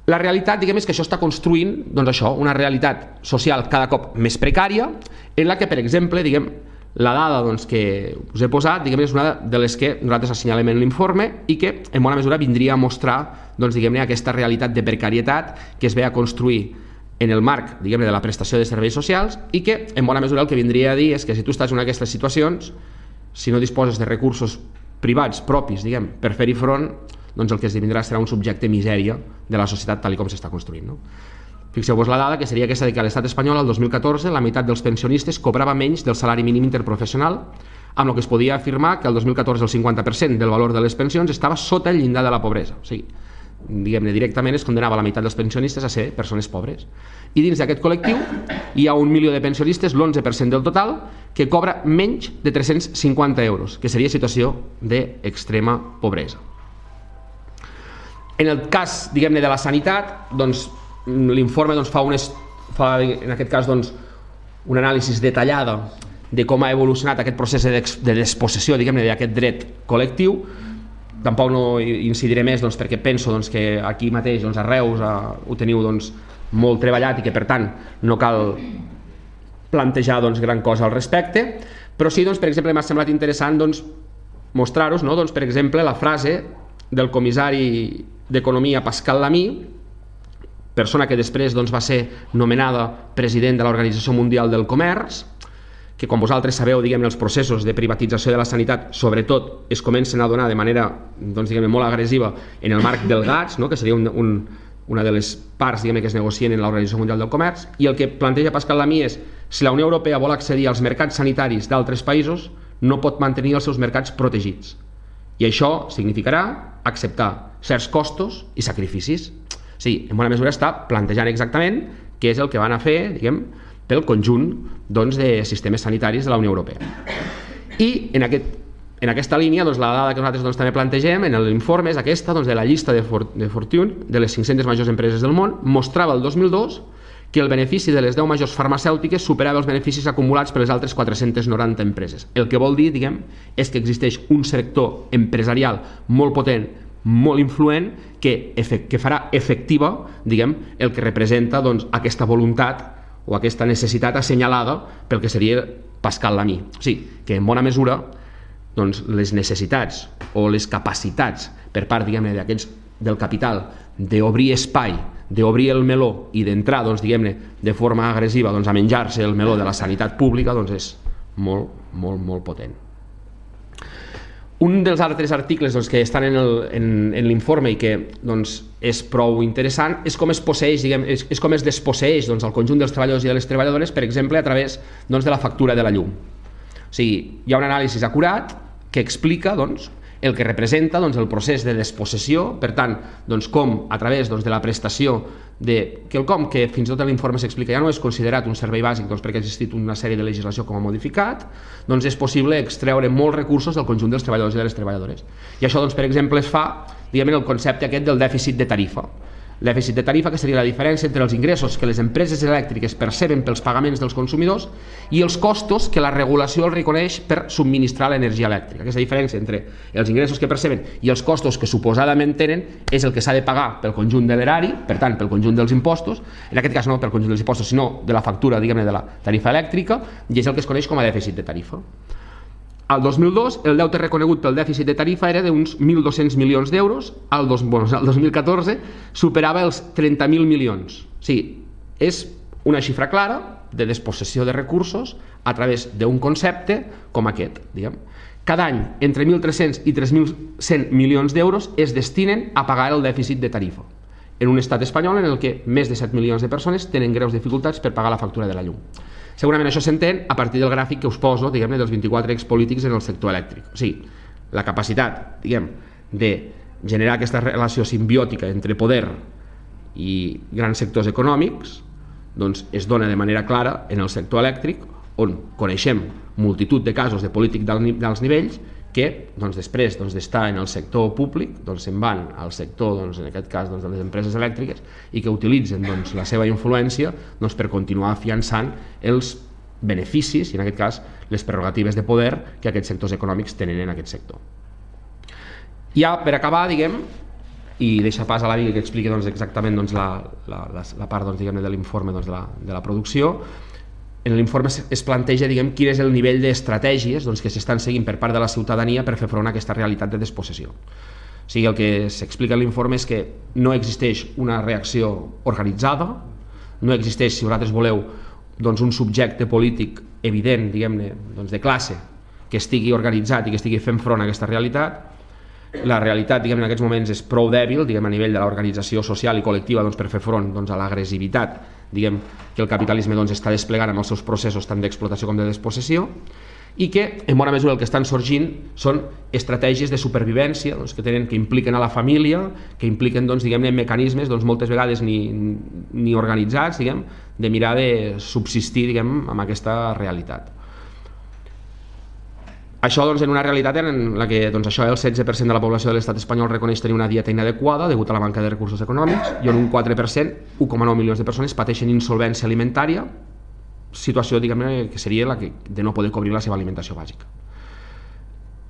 La realitat és que això està construint una realitat social cada cop més precària, en la que, per exemple, la dada que us he posat és una de les que nosaltres assenyalem en l'informe i que en bona mesura vindria a mostrar aquesta realitat de precarietat que es ve a construir en el marc de la prestació de serveis socials i que en bona mesura el que vindria a dir és que si tu estàs en aquestes situacions, si no disposes de recursos privats propis per fer-hi front, el que esdevindrà serà un subjecte misèria de la societat tal com s'està construint. Fixeu-vos la dada, que seria aquesta que a l'estat espanyol el 2014 la meitat dels pensionistes cobrava menys del salari mínim interprofessional, amb el que es podia afirmar que el 2014 el 50% del valor de les pensions estava sota el llindar de la pobresa. O sigui, directament es condenava la meitat dels pensionistes a ser persones pobres. I dins d'aquest col·lectiu hi ha 1 milió de pensionistes, l'11% del total, que cobra menys de 350 euros, que seria situació d'extrema pobresa. En el cas, de la sanitat, l'informe fa en aquest cas una anàlisi detallada de com ha evolucionat aquest procés de despossessió d'aquest dret col·lectiu. Tampoc no incidiré més perquè penso que aquí mateix a Reus ho teniu molt treballat i que per tant no cal plantejar gran cosa al respecte, però sí, per exemple, m'ha semblat interessant mostrar-vos, per exemple, la frase del comissari d'Economia Pascal Lamy, persona que després va ser nomenada president de l'Organització Mundial del Comerç, que com vosaltres sabeu, els processos de privatització de la sanitat sobretot es comencen a donar de manera molt agressiva en el marc del GATS, que seria una de les parts que es negocien en l'Organització Mundial del Comerç, i el que planteja Pascal Lamy és: si la Unió Europea vol accedir als mercats sanitaris d'altres països, no pot mantenir els seus mercats protegits, i això significarà acceptar certs costos i sacrificis. Sí, en bona mesura està plantejant exactament què és el que van a fer, pel conjunt de sistemes sanitaris de la Unió Europea. I en aquesta línia, la dada que nosaltres també plantegem en l'informe és aquesta, de la llista de Fortune, de les 500 majors empreses del món, mostrava el 2002 que el benefici de les 10 majors farmacèutiques superava els beneficis acumulats per les altres 490 empreses. El que vol dir, és que existeix un sector empresarial molt potent, molt influent, que farà efectiva el que representa aquesta voluntat o aquesta necessitat assenyalada pel que seria Pascal Lamy. O sigui, que en bona mesura les necessitats o les capacitats per part del capital d'obrir espai, d'obrir el meló i d'entrar de forma agressiva a menjar-se el meló de la sanitat pública és molt, molt, molt potent. Un dels altres articles que estan en l'informe i que és prou interessant és com es desposseix el conjunt dels treballadors i de les treballadores, per exemple, a través de la factura de la llum. O sigui, hi ha un anàlisi acurat que explica el que representa el procés de despossessió, per tant, com a través de la prestació de quelcom que fins i tot en l'informe s'explica ja no és considerat un servei bàsic perquè ha existit una sèrie de legislació com a modificat, és possible extreure molts recursos del conjunt dels treballadors i de les treballadores. I això, per exemple, es fa en el concepte aquest del dèficit de tarifa. El dèficit de tarifa, que seria la diferència entre els ingressos que les empreses elèctriques perceben pels pagaments dels consumidors i els costos que la regulació els reconeix per subministrar l'energia elèctrica. Aquesta diferència entre els ingressos que perceben i els costos que suposadament tenen és el que s'ha de pagar pel conjunt de l'erari, per tant, pel conjunt dels impostos, en aquest cas no pel conjunt dels impostos, sinó de la factura, diguem-ne, de la tarifa elèctrica, i és el que es coneix com a dèficit de tarifa. Al 2002, el deute reconegut pel dèficit de tarifa era d'uns 1.200 milions d'euros, al 2014 superava els 30.000 milions. O sigui, és una xifra clara de despossessió de recursos a través d'un concepte com aquest. Cada any, entre 1.300 i 3.100 milions d'euros es destinen a pagar el dèficit de tarifa, en un estat espanyol en el que més de 7 milions de persones tenen greus dificultats per pagar la factura de la llum. Segurament això s'entén a partir del gràfic que us poso, diguem-ne, dels 24 expolítics en el sector elèctric. O sigui, la capacitat, de generar aquesta relació simbiòtica entre poder i grans sectors econòmics, es dona de manera clara en el sector elèctric, on coneixem multitud de casos de polític d'alts nivells que després d'estar en el sector públic se'n van al sector, en aquest cas de les empreses elèctriques, i que utilitzen la seva influència per continuar afiançant els beneficis i en aquest cas les prerrogatives de poder que aquests sectors econòmics tenen en aquest sector. Ja per acabar, i deixar pas a la Vicky que expliqui exactament la part de l'informe de la producció. En l'informe es planteja quin és el nivell d'estratègies que s'estan seguint per part de la ciutadania per fer front a aquesta realitat de despossessió. O sigui, el que s'explica en l'informe és que no existeix una reacció organitzada, no existeix, si vosaltres voleu, un subjecte polític evident, de classe, que estigui organitzat i que estigui fent front a aquesta realitat. La realitat, en aquests moments, és prou dèbil a nivell de l'organització social i col·lectiva per fer front a l'agressivitat que el capitalisme està desplegant amb els seus processos tant d'explotació com de despossessió, i que en bona mesura el que estan sorgint són estratègies de supervivència que impliquen a la família, que impliquen mecanismes moltes vegades ni organitzats de mirar de subsistir amb aquesta realitat. Això en una realitat en la que el 16% de la població de l'estat espanyol reconeix tenir una dieta inadequada degut a la manca de recursos econòmics i on un 4%, 1,9 milions de persones, pateixen insolvència alimentària, situació que seria la de no poder cobrir la seva alimentació bàsica.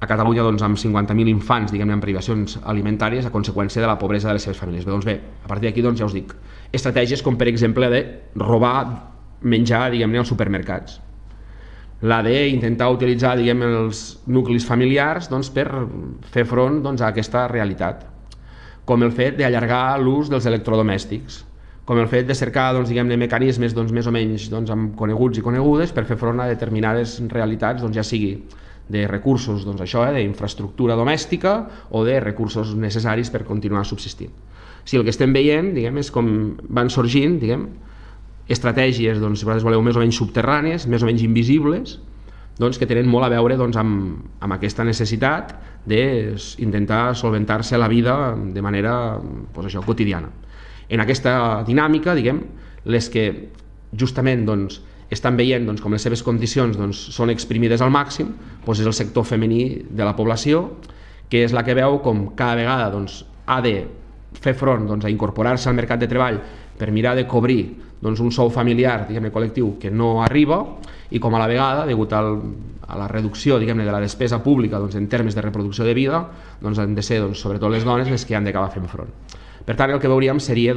A Catalunya amb 50.000 infants en privacions alimentàries a conseqüència de la pobresa de les seves famílies. Bé, a partir d'aquí ja us dic, estratègies com per exemple de robar menjar als supermercats, la d'intentar utilitzar els nuclis familiars per fer front a aquesta realitat, com el fet d'allargar l'ús dels electrodomèstics, com el fet de cercar mecanismes més o menys coneguts i conegudes per fer front a determinades realitats, ja sigui de recursos d'infraestructura domèstica o de recursos necessaris per continuar subsistint. Si el que estem veient és com van sorgint estratègies, si vosaltres voleu, més o menys subterrànies, més o menys invisibles, que tenen molt a veure amb aquesta necessitat d'intentar solventar-se la vida de manera quotidiana. En aquesta dinàmica, les que justament estan veient com les seves condicions són exprimides al màxim, és el sector femení de la població, que és la que veu com cada vegada ha de fer front a incorporar-se al mercat de treball per mirar de cobrir un sou familiar col·lectiu que no arriba i com a la vegada, degut a la reducció de la despesa pública en termes de reproducció de vida, han de ser sobretot les dones les que han d'acabar fent front. Per tant, el que veuríem seria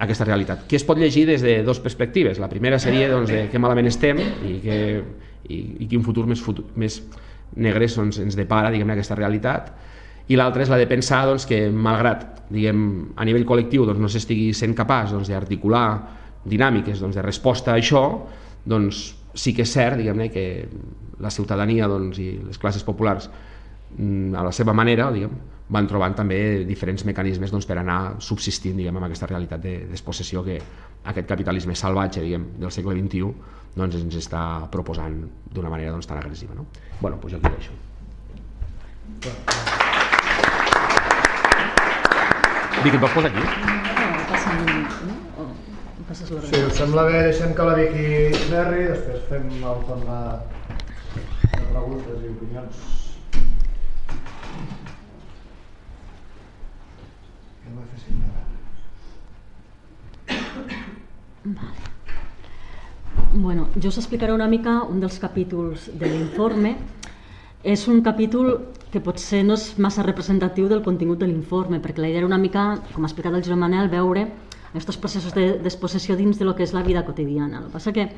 aquesta realitat, que es pot llegir des de dues perspectives. La primera seria de que malament estem i quin futur més negre ens depara aquesta realitat, i l'altra és la de pensar que malgrat a nivell col·lectiu no s'estigui sent capaç d'articular dinàmiques de resposta a això, sí que és cert que la ciutadania i les classes populars a la seva manera van trobant també diferents mecanismes per anar subsistint amb aquesta realitat de despossessió que aquest capitalisme salvatge del segle XXI ens està proposant d'una manera tan agressiva. Bueno, doncs jo aquí ho deixo. Vicky, et vols posar aquí? Si us sembla bé, deixem que la Vicky xerri, després fem el torn de preguntes i opinions. Bueno, jo us explicaré una mica un dels capítols de l'informe. És un capítol que potser no és massa representatiu del contingut de l'informe, perquè la idea era una mica, com ha explicat el Joan Manel, veure aquests processos de despossessió dins de lo que és la vida quotidiana. El que passa que a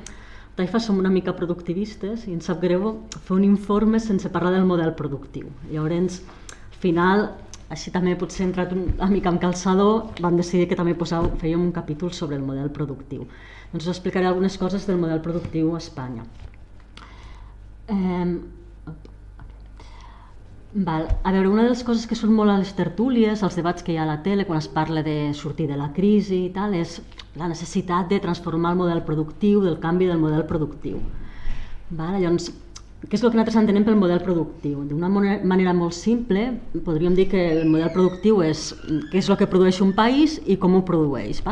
Taifa som una mica productivistes i ens sap greu fer un informe sense parlar del model productiu. Llavors, al final, així també potser entrat una mica amb calçador, vam decidir que també fèiem un capítol sobre el model productiu. Doncs us explicaré algunes coses del model productiu a Espanya. A veure, una de les coses que són molt a les tertúlies, als debats que hi ha a la tele, quan es parla de sortir de la crisi i tal, és la necessitat de transformar el model productiu, del canvi del model productiu. Llavors, què és el que nosaltres entenem pel model productiu? D'una manera molt simple, podríem dir que el model productiu és què és el que produeix un país i com ho produeix.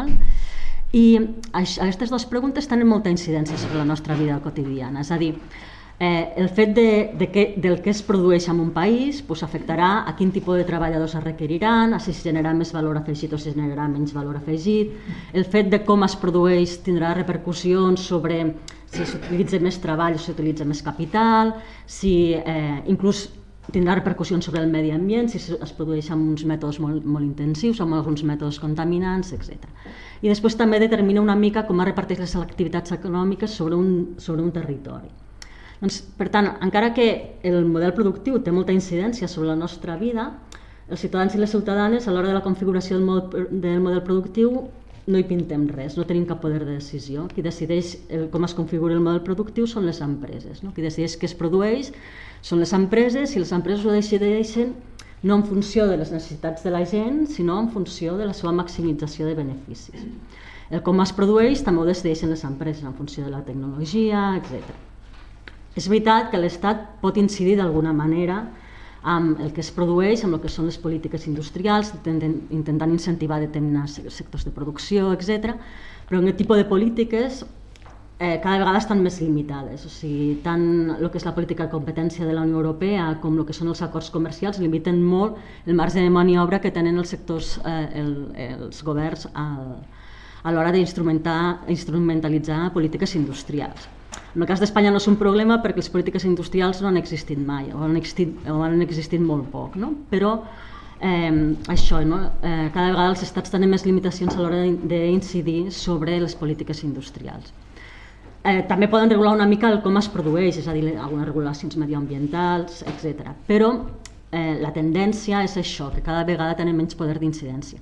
I aquestes dues preguntes tenen molta incidència sobre la nostra vida quotidiana. És a dir, el fet del que es produeix en un país afectarà a quin tipus de treballadors es requeriran, a si es generarà més valor afegit o si es generarà menys valor afegit. El fet de com es produeix tindrà repercussions sobre si s'utilitza més treball o si s'utilitza més capital, si inclús tindrà repercussions sobre el medi ambient, si es produeix amb uns mètodes molt intensius o amb alguns mètodes contaminants, etc. I després també determina una mica com es reparteix les activitats econòmiques sobre un territori. Doncs, per tant, encara que el model productiu té molta incidència sobre la nostra vida, els ciutadans i les ciutadanes a l'hora de la configuració del model productiu no hi pintem res, no tenim cap poder de decisió. Qui decideix com es configura el model productiu són les empreses. Qui decideix què es produeix són les empreses i les empreses ho decideixen no en funció de les necessitats de la gent, sinó en funció de la seva maximització de beneficis. El com es produeix també ho decideixen les empreses en funció de la tecnologia, etc. És veritat que l'Estat pot incidir d'alguna manera amb el que es produeix, amb el que són les polítiques industrials, intentant incentivar determinats sectors de producció, etc. Però aquest tipus de polítiques cada vegada estan més limitades. O sigui, tant el que és la política de competència de la Unió Europea com el que són els acords comercials limiten molt el marge de maniobra que tenen els sectors, els governs a l'hora d'instrumentalitzar polítiques industrials. En el cas d'Espanya no és un problema perquè les polítiques industrials no han existit mai o han existit molt poc, però cada vegada els estats tenen més limitacions a l'hora d'incidir sobre les polítiques industrials. També poden regular una mica el com es produeix, és a dir, algunes regulacions mediambientals, etc. Però la tendència és això, que cada vegada tenen menys poder d'incidència.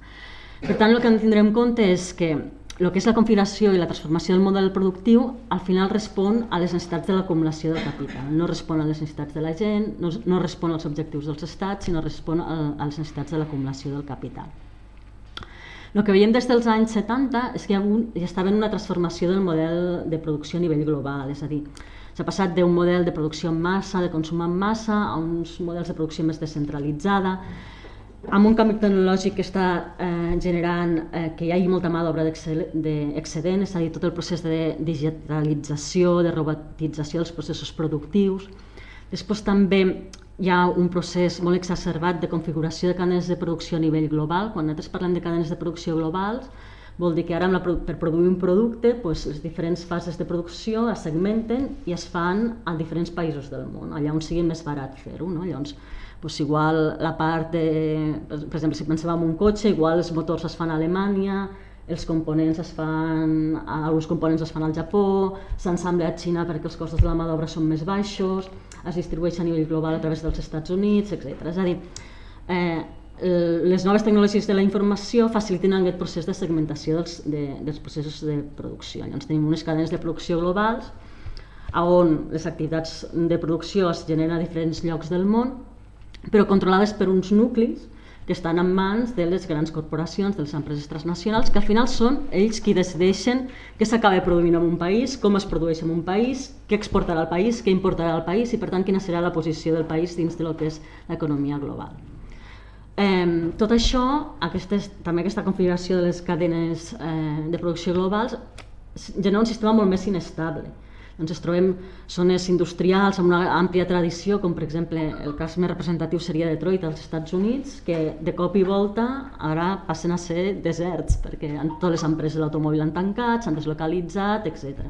Per tant, el que hem de tindre en compte és que el que és la configuració i la transformació del model productiu al final respon a les necessitats de l'acumulació del capital, no respon a les necessitats de la gent, no respon als objectius dels estats, sinó respon a les necessitats de l'acumulació del capital. El que veiem des dels anys 70 és que ja estava en una transformació del model de producció a nivell global, és a dir, s'ha passat d'un model de producció en massa, de consum en massa, a uns models de producció més descentralitzada, amb un canvi tecnològic que està generant que hi hagi molta mà d'obra d'excedent, és a dir, tot el procés de digitalització, de robotització dels processos productius. Després també hi ha un procés molt exacerbat de configuració de cadenes de producció a nivell global. Quan nosaltres parlem de cadenes de producció globals, vol dir que ara per produir un producte, les diferents fases de producció es segmenten i es fan a diferents països del món, allà on sigui més barat fer-ho. Llavors, igual la part de, per exemple, si pensem en un cotxe, igual els motors es fan a Alemanya, els components alguns components es fan al Japó, s'ensambla a Xina perquè els costos de la mà d'obra són més baixos, es distribueix a nivell global a través dels Estats Units, etc. És a dir, les noves tecnologies de la informació faciliten aquest procés de segmentació dels processos de producció. Llavors tenim unes cadenes de producció globals on les activitats de producció es generen a diferents llocs del món, però controlades per uns nuclis que estan en mans de les grans corporacions, de les empreses transnacionals, que al final són ells qui decideixen què s'acaba produint en un país, com es produeix en un país, què exportarà al país, què importarà al país i, per tant, quina serà la posició del país dins del que és l'economia global. Tot això, també aquesta configuració de les cadenes de producció globals, genera un sistema molt més inestable. Doncs ens trobem zones industrials amb una àmplia tradició, com per exemple el cas més representatiu seria Detroit als Estats Units, que de cop i volta ara passen a ser deserts, perquè totes les empreses de l'automòbil han tancat, s'han deslocalitzat, etc.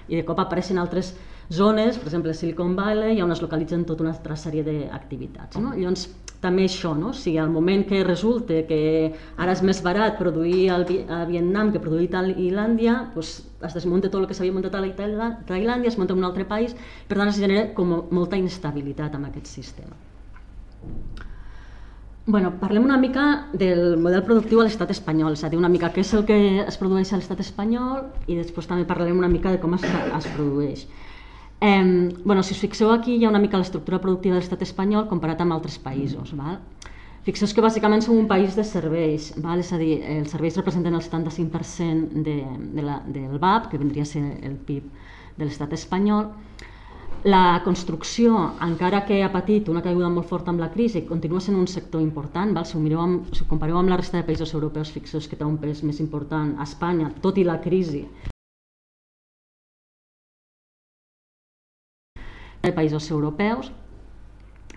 I de cop apareixen altres zones, per exemple Silicon Valley, on es localitzen tota una altra sèrie d'activitats. Llavors, també això, si al moment que resulta que ara és més barat produir a Vietnam que produir a Tailàndia, es desmunta tot el que s'havia muntat a Tailàndia, es munta en un altre país, per tant es genera molta inestabilitat en aquest sistema. Parlem una mica del model productiu a l'estat espanyol, és a dir, una mica què és el que es produeix a l'estat espanyol i després també parlarem una mica de com es produeix. Si us fixeu aquí hi ha una mica l'estructura productiva de l'estat espanyol comparat amb altres països. Fixeu que bàsicament som un país de serveis, és a dir, els serveis representen el 75% del BAP, que vindria a ser el PIB de l'estat espanyol. La construcció, encara que ha patit una caiguda molt forta amb la crisi, continua sent un sector important. Si ho compareu amb la resta de països europeus, fixeu que té un pes més important a Espanya, tot i la crisi, de països europeus.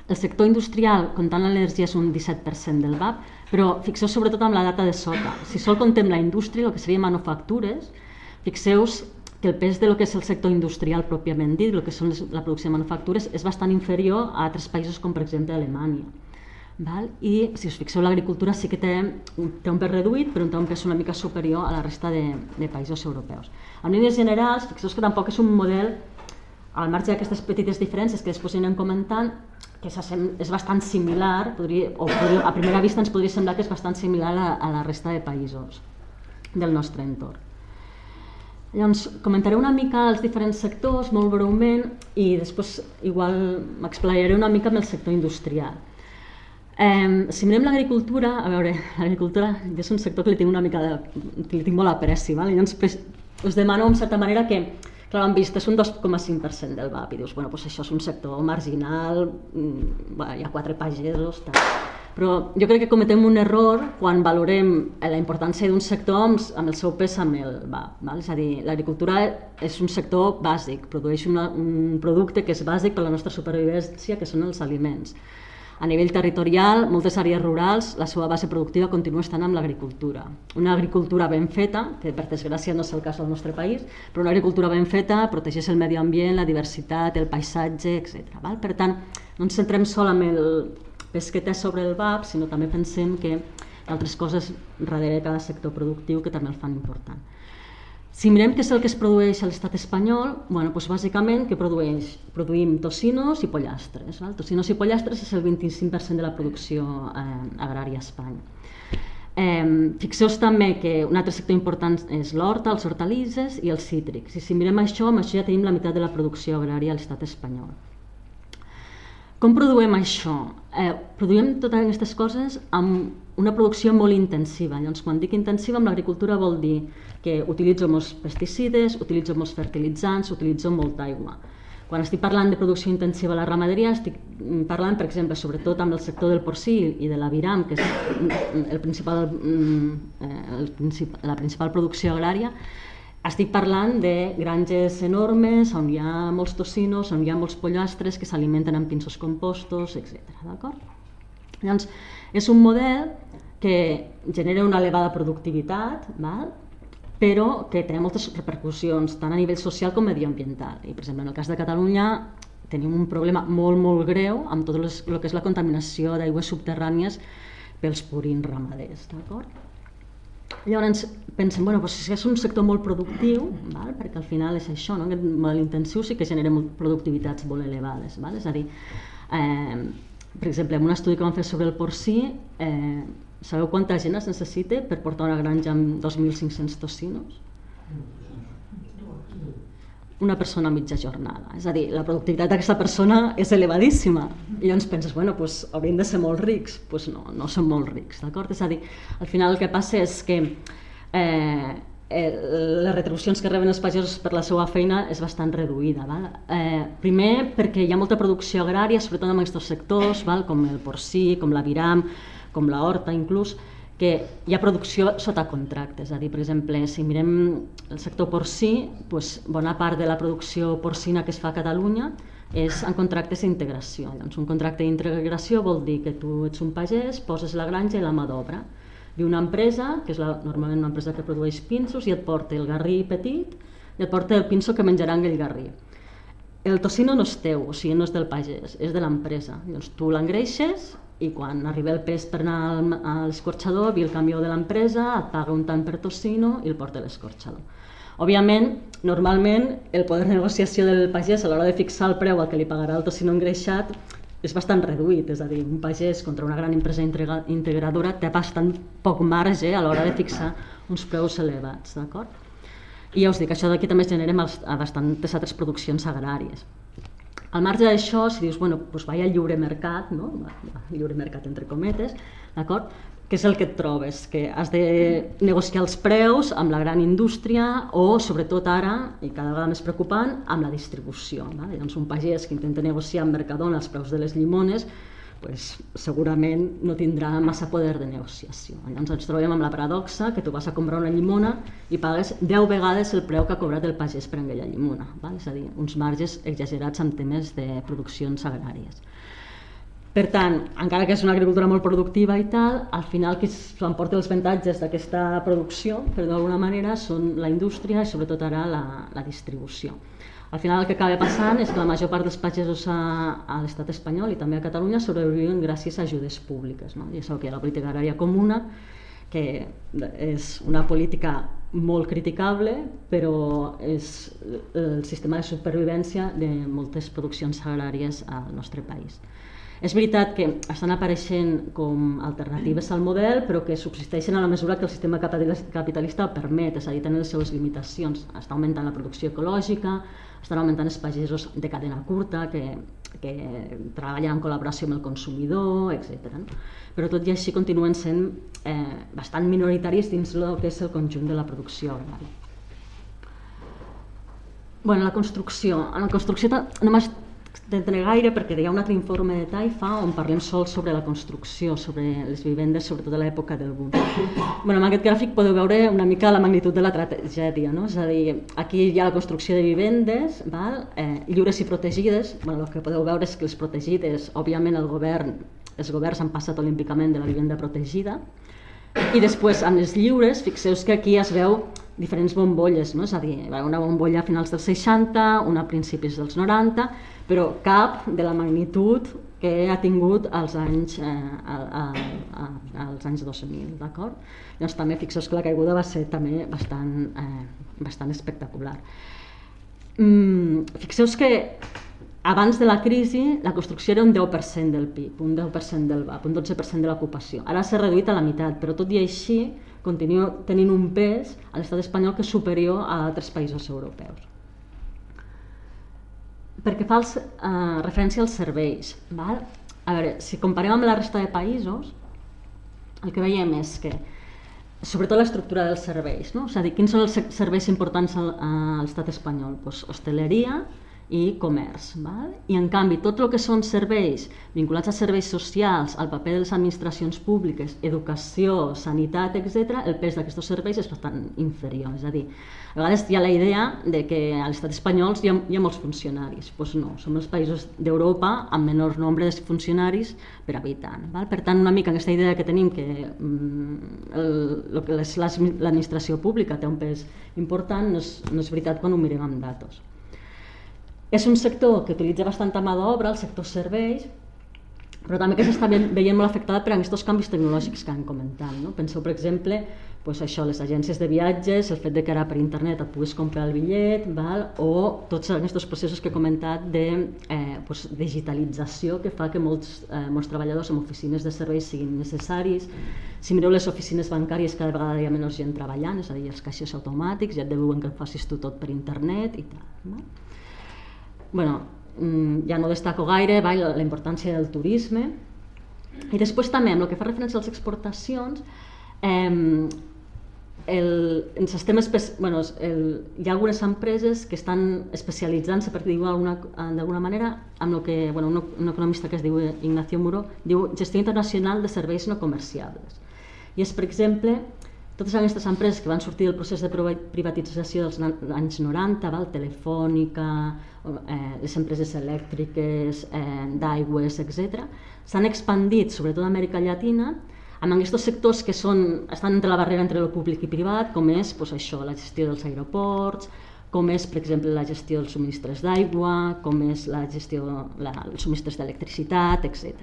El sector industrial, comptant l'energia, és un 17% del BAP, però fixeu sobretot amb la data de sota. Si sol contem la indústria, el que seria manufactures, fixeu que el pes del que és el sector industrial pròpiament dit, el que són la producció de manufactures, és bastant inferior a altres països com per exemple Alemanya. I si us fixeu, l'agricultura sí que té un pes reduït, però té un pes una mica superior a la resta de països europeus. En línies generals, fixeu que tampoc és un model, al marge d'aquestes petites diferències que després anirem comentant, que és bastant similar, a primera vista ens podria semblar que és bastant similar a la resta de països del nostre entorn. Llavors, comentaré una mica els diferents sectors, molt breument, i després igual m'explayaré una mica amb el sector industrial. Si mirem l'agricultura, l'agricultura és un sector que li tinc molt apreci, llavors us demano en certa manera que, clar, han vist, és un 2,5% del BAP i dius, això és un sector marginal, hi ha 4 pagesos, però jo crec que cometem un error quan valorem la importància d'un sector amb el seu pes amb el BAP. És a dir, l'agricultura és un sector bàsic, produeix un producte que és bàsic per a la nostra supervivència, que són els aliments. A nivell territorial, moltes àrees rurals, la seva base productiva continua estant amb l'agricultura. Una agricultura ben feta, que per desgràcia no és el cas del nostre país, però una agricultura ben feta protegeix el medi ambient, la diversitat, el paisatge, etc. Per tant, no ens centrem sol en el pes que té sobre el BAP, sinó també pensem que hi ha altres coses darrere cada sector productiu que també el fan important. Si mirem què és el que es produeix a l'estat espanyol, bàsicament que produïm tocinos i pollastres. Tocinos i pollastres és el 25% de la producció agrària a Espanya. Fixeu també que un altre sector important és l'horta, els hortalisses i els cítrics. I si mirem això, amb això ja tenim la meitat de la producció agrària a l'estat espanyol. Com produïm això? Produïm totes aquestes coses amb una producció molt intensiva. Llavors, quan dic intensiva, amb l'agricultura vol dir que utilitzo molts pesticides, utilitzo molts fertilitzants, utilitzo molta aigua. Quan estic parlant de producció intensiva a la ramaderia, estic parlant, per exemple, sobretot amb el sector del porcí i de l'aviram, que és la principal producció agrària. Estic parlant de granges enormes on hi ha molts tocinos, on hi ha molts pollastres que s'alimenten amb pinsos compostos, etc. Llavors, és un model que genera una elevada productivitat, però que té moltes repercussions, tant a nivell social com mediambiental. I, per exemple, en el cas de Catalunya tenim un problema molt, molt greu amb tot el que és la contaminació d'aigües subterrànies pels purins ramaders. Llavors pensem, si és un sector molt productiu, perquè al final és això, aquest model intensiu sí que genera productivitats molt elevades. És a dir, per exemple, en un estudi que vam fer sobre el porcí, sabeu quanta gent es necessita per portar una granja amb 2.500 tocinos? Una persona a mitja jornada. És a dir, la productivitat d'aquesta persona és elevadíssima. I llavors penses, haurien de ser molt rics. Doncs no són molt rics, d'acord? És a dir, al final el que passa és que les retribucions que reben els pagesos per la seva feina és bastant reduïda. Primer, perquè hi ha molta producció agrària, sobretot en aquests sectors, com el porcí, com l'aviram, com la horta inclús, que hi ha producció sota contracte. És a dir, per exemple, si mirem el sector porcí, bona part de la producció porcina que es fa a Catalunya és en contractes d'integració. Doncs un contracte d'integració vol dir que tu ets un pagès, poses la granja i la mà d'obra. Ve una empresa, que és normalment una empresa que produeix pinsos, i et porta el garrí petit i et porta el pinso que menjarà aquell garrí. El tocino no és teu, o sigui, no és del pagès, és de l'empresa. Llavors tu l'engreixes i quan arriba el pes per anar a l'escorxador, ve el camió de l'empresa, et paga un tant per tocino i el porta a l'escorxador. Òbviament, normalment, el poder de negociació del pagès a l'hora de fixar el preu al que li pagarà el tocino engreixat és bastant reduït, és a dir, un pagès contra una gran empresa integradora té bastant poc marge a l'hora de fixar uns preus elevats, d'acord? I ja us dic, això d'aquí també es genera a bastantes altres produccions agràries. Al marge d'això, si dius, bueno, doncs vaig al lliure mercat, no? Lliure mercat entre cometes, d'acord? Què és el que et trobes? Que has de negociar els preus amb la gran indústria o, sobretot ara, i cada vegada més preocupant, amb la distribució. Doncs un pagès que intenta negociar amb Mercadona els preus de les llimones segurament no tindrà massa poder de negociació. Llavors ens trobem amb la paradoxa que tu vas a comprar una llimona i pagues 10 vegades el preu que ha cobrat el pagès per aquella llimona. És a dir, uns marges exagerats en temes de produccions agràries. Per tant, encara que és una agricultura molt productiva i tal, al final qui s'emporta els avantatges d'aquesta producció, per d'alguna manera, són la indústria i sobretot ara la distribució. Al final el que acaba passant és que la major part dels pagesos a l'estat espanyol i també a Catalunya sobreviuen gràcies a ajudes públiques. Ja sabeu que hi ha la política agrària comuna, que és una política molt criticable, però és el sistema de supervivència de moltes produccions agràries al nostre país. És veritat que estan apareixent com alternatives al model, però que subsisteixen a la mesura que el sistema capitalista el permet, és a dir, tenen les seves limitacions. Està augmentant la producció ecològica, estan augmentant els pagesos de cadena curta que treballen en col·laboració amb el consumidor, etc. Però tot i així continuen sent bastant minoritaris dins el que és el conjunt de la producció agrària. En la construcció no m'estendré gaire perquè hi ha un altre informe de Taifa on parlem sols sobre la construcció, sobre les vivendes, sobretot a l'època del boom. En aquest gràfic podeu veure una mica la magnitud de la tragèdia, és a dir, aquí hi ha la construcció de vivendes lliures i protegides. El que podeu veure és que les protegides, òbviament els governs han passat olímpicament de la vivenda protegida, i després amb les lliures, fixeu-vos que aquí es veu diferents bombolles, és a dir, una bombolla a finals dels 60, una a principis dels 90, però cap de la magnitud que ha tingut als anys 2000, d'acord? Llavors també fixeu-vos que la caiguda va ser també bastant espectacular. Fixeu-vos que abans de la crisi la construcció era un 10% del PIB, un 10% del VAP, un 12% de l'ocupació. Ara s'ha reduït a la meitat, però tot i així continua tenint un pes a l'estat espanyol que és superior a altres països europeus. Perquè fa referència als serveis. A veure, si comparem amb la resta de països, el que veiem és que, sobretot l'estructura dels serveis, és a dir, quins són els serveis importants a l'estat espanyol? Hostaleria i comerç. I en canvi tot el que són serveis vinculats a serveis socials, al paper de les administracions públiques, educació, sanitat, etc., el pes d'aquests serveis és bastant inferior. És a dir, a vegades hi ha la idea de que a l'estat espanyol hi ha molts funcionaris. Doncs no, som els països d'Europa amb menor nombre de funcionaris per habitant. Per tant, una mica aquesta idea que tenim que l'administració pública té un pes important no és veritat quan ho mirem amb datos. És un sector que utilitza bastanta mà d'obra, el sector serveis, però també que s'està veient molt afectada per aquests canvis tecnològics que han comentat. Penseu, per exemple, les agències de viatges, el fet que ara per internet et puguis comprar el bitllet, o tots aquests processos que he comentat de digitalització que fa que molts treballadors en oficines de serveis siguin necessaris. Si mireu les oficines bancàries, cada vegada hi ha menys gent treballant, és a dir, els caixers automàtics, ja et diuen que facis tu tot per internet i tal. Ja no destaco gaire la importància del turisme. I després també, amb el que fa referència a les exportacions, hi ha algunes empreses que estan especialitzant-se, per dir-ho d'alguna manera, amb el que un economista que es diu Ignacio Muro diu gestió internacional de serveis no comerciables. I és, per exemple, totes aquestes empreses que van sortir del procés de privatització dels anys 90, Telefònica, les empreses elèctriques, d'aigües, etc., s'han expandit, sobretot a Amèrica Llatina, amb aquests sectors que estan entre la barrera entre el públic i privat, com és la gestió dels aeroports, com és, per exemple, la gestió dels subministres d'aigua, com és la gestió dels subministres d'electricitat, etc.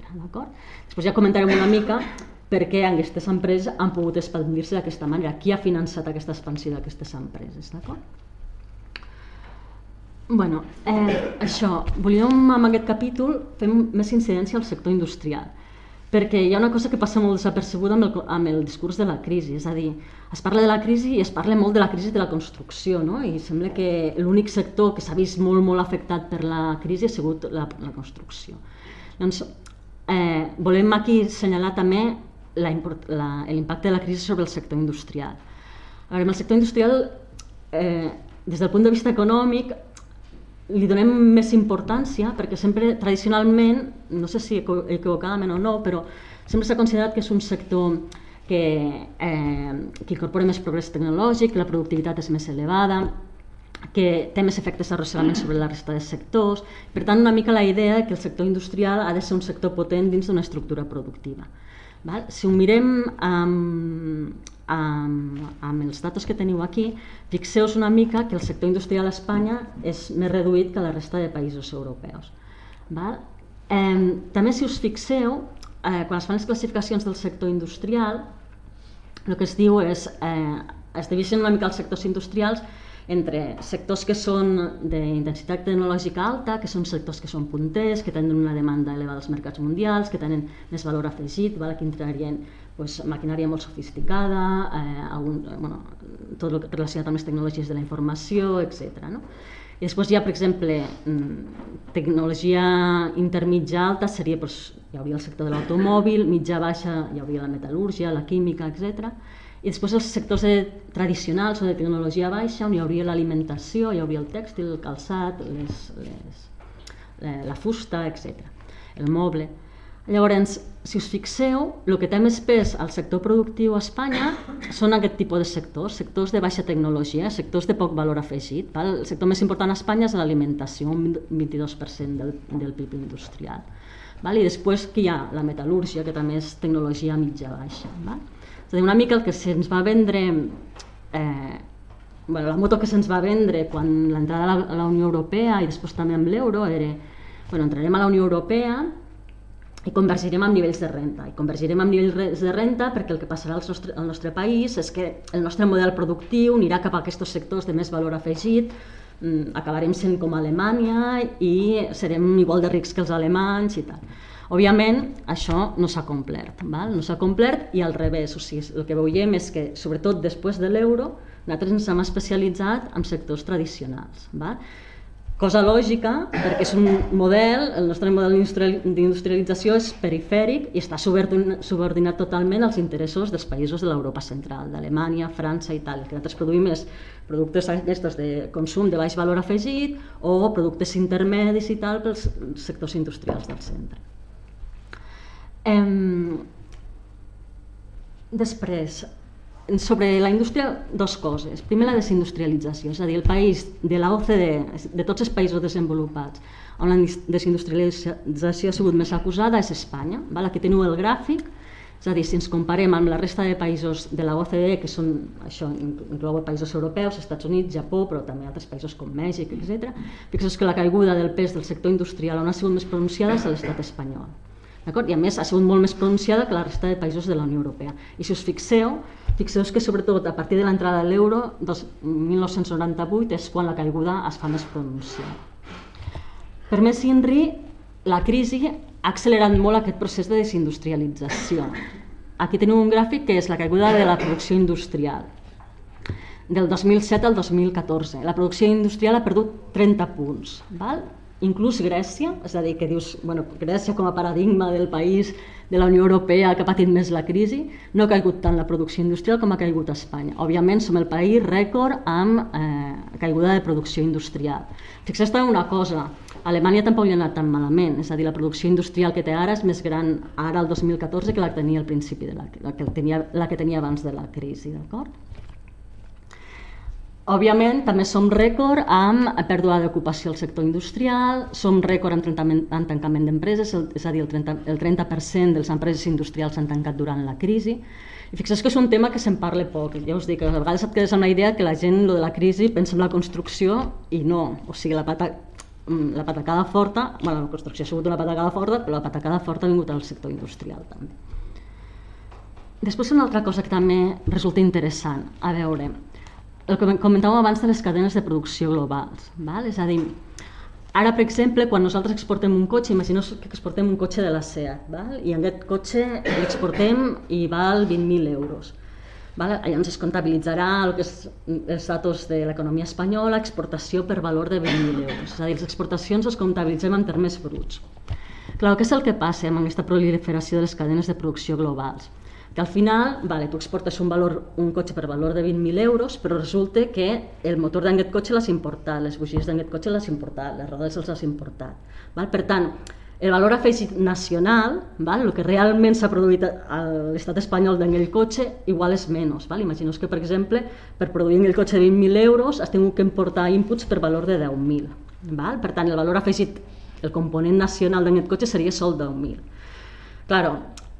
Després ja comentarem una mica per què aquestes empreses han pogut expandir-se d'aquesta manera, qui ha finançat aquesta expansió d'aquestes empreses. Volíem amb aquest capítol fer més incidència al sector industrial, perquè hi ha una cosa que passa molt desapercebuda amb el discurs de la crisi, és a dir, es parla de la crisi i es parla molt de la crisi de la construcció, i sembla que l'únic sector que s'ha vist molt afectat per la crisi ha sigut la construcció. Doncs volem aquí assenyalar també l'impacte de la crisi sobre el sector industrial. En el sector industrial, des del punt de vista econòmic, li donem més importància perquè sempre, tradicionalment, no sé si equivocadament o no, però sempre s'ha considerat que és un sector que incorpora més progrés tecnològic, que la productivitat és més elevada, que té més efectes d'arrossegament sobre la resta de sectors. Per tant, una mica la idea que el sector industrial ha de ser un sector potent dins d'una estructura productiva. Si ho mirem amb els datos que teniu aquí, fixeu-vos una mica que el sector industrial a Espanya és més reduït que la resta de països europeus. També, si us fixeu, quan es fan les classificacions del sector industrial, el que es diu és, es divideixen una mica els sectors industrials entre sectors que són d'intensitat tecnològica alta, que són sectors que són punters, que tenen una demanda elevada als mercats mundials, que tenen més valor afegit, aquí entrarien maquinària molt sofisticada, tot el relacionat amb les tecnologies de la informació, etc. I després hi ha, per exemple, tecnologia intermitja alta, hi hauria el sector de l'automòbil, mitja-baixa hi hauria la metal·lúrgia, la química, etc. I després els sectors tradicionals o de tecnologia baixa, on hi hauria l'alimentació, hi hauria el tèxtil, el calçat, la fusta, etc. El moble. Llavors, si us fixeu, el que té més pes al sector productiu a Espanya són aquest tipus de sectors, sectors de baixa tecnologia, sectors de poc valor afegit. El sector més important a Espanya és l'alimentació, un 22% del PIB industrial. I després que hi ha la metal·lúrgia, que també és tecnologia mitja-baixa. És a dir, una mica el que se'ns va vendre, la moto que se'ns va vendre quan l'entrada a la Unió Europea i després també amb l'euro era, entrarem a la Unió Europea i convergirem amb nivells de renta. I convergirem amb nivells de renta perquè el que passarà al nostre país és que el nostre model productiu anirà cap a aquests sectors de més valor afegit, acabarem sent com Alemanya i serem igual de rics que els alemanys i tal. Òbviament, això no s'ha complert, no s'ha complert i al revés, o sigui, el que veiem és que, sobretot després de l'euro, nosaltres ens hem especialitzat en sectors tradicionals. Cosa lògica, perquè és un model, el nostre model d'industrialització és perifèric i està subordinat totalment als interessos dels països de l'Europa central, d'Alemanya, França i tal. El que nosaltres produïm és productes de consum de baix valor afegit o productes intermedis i tal pels sectors industrials del centre. Després, sobre la indústria, dues coses. Primer, la desindustrialització, és a dir, el país de la OCDE, de tots els països desenvolupats, on la desindustrialització ha sigut més acusada és Espanya. Aquí teniu el gràfic, és a dir, si ens comparem amb la resta de països de la OCDE, que són, això inclou països europeus, Estats Units, Japó, però també altres països com Mèxic, etc., fixeu que la caiguda del pes del sector industrial on ha sigut més pronunciada és a l'estat espanyol. I a més ha sigut molt més pronunciada que la resta de països de la Unió Europea. I si us fixeu que sobretot a partir de l'entrada de l'euro, 1998, és quan la caiguda es fa més pronunciada. Per més INRI, la crisi ha accelerat molt aquest procés de desindustrialització. Aquí teniu un gràfic que és la caiguda de la producció industrial. Del 2007 al 2014. La producció industrial ha perdut 30 punts. inclús Grècia, és a dir, que dius, bueno, Grècia com a paradigma del país de la Unió Europea que ha patit més la crisi, no ha caigut tant la producció industrial com ha caigut a Espanya. Òbviament som el país rècord amb caiguda de producció industrial. Fixeu-vos també una cosa, a Alemanya tampoc li ha anat tan malament, és a dir, la producció industrial que té ara és més gran ara el 2014 que la que tenia al principi, la que tenia abans de la crisi, d'acord? Òbviament, també som rècord amb pèrdua d'ocupació al sector industrial, som rècord en tancament d'empreses, és a dir, el 30% de les empreses industrials s'han tancat durant la crisi. I fixeu que és un tema que se'n parla poc. Ja us dic, a vegades et quedes amb la idea que la gent, lo de la crisi, pensa en la construcció i no. O sigui, la patacada forta, bueno, la construcció ha sigut una patacada forta, però la patacada forta ha vingut al sector industrial també. Després una altra cosa que també resulta interessant, a veure, el que comentàvem abans de les cadenes de producció globals, val? És a dir, ara, per exemple, quan nosaltres exportem un cotxe, imagineu que exportem un cotxe de la SEAT, val? I aquest cotxe l'exportem i val 20.000 euros. Val? Llavors es comptabilitzarà el que és els datos de l'economia espanyola, exportació per valor de 20.000 euros. És a dir, les exportacions les comptabilitzem en termes bruts. Clar, què és el que passa amb aquesta proliferació de les cadenes de producció globals? Que al final, tu exportes un cotxe per valor de 20.000 euros, però resulta que el motor d'aquest cotxe l'has importat, les bugies d'aquest cotxe l'has importat, les rodes els has importat. Per tant, el valor afegit nacional, el que realment s'ha produït a l'estat espanyol d'aquell cotxe, igual és menys. Imagineu que, per exemple, per produir aquell cotxe de 20.000 euros has tingut que importar inputs per valor de 10.000. Per tant, el valor afegit, el component nacional d'aquest cotxe seria sol 10.000. Claro,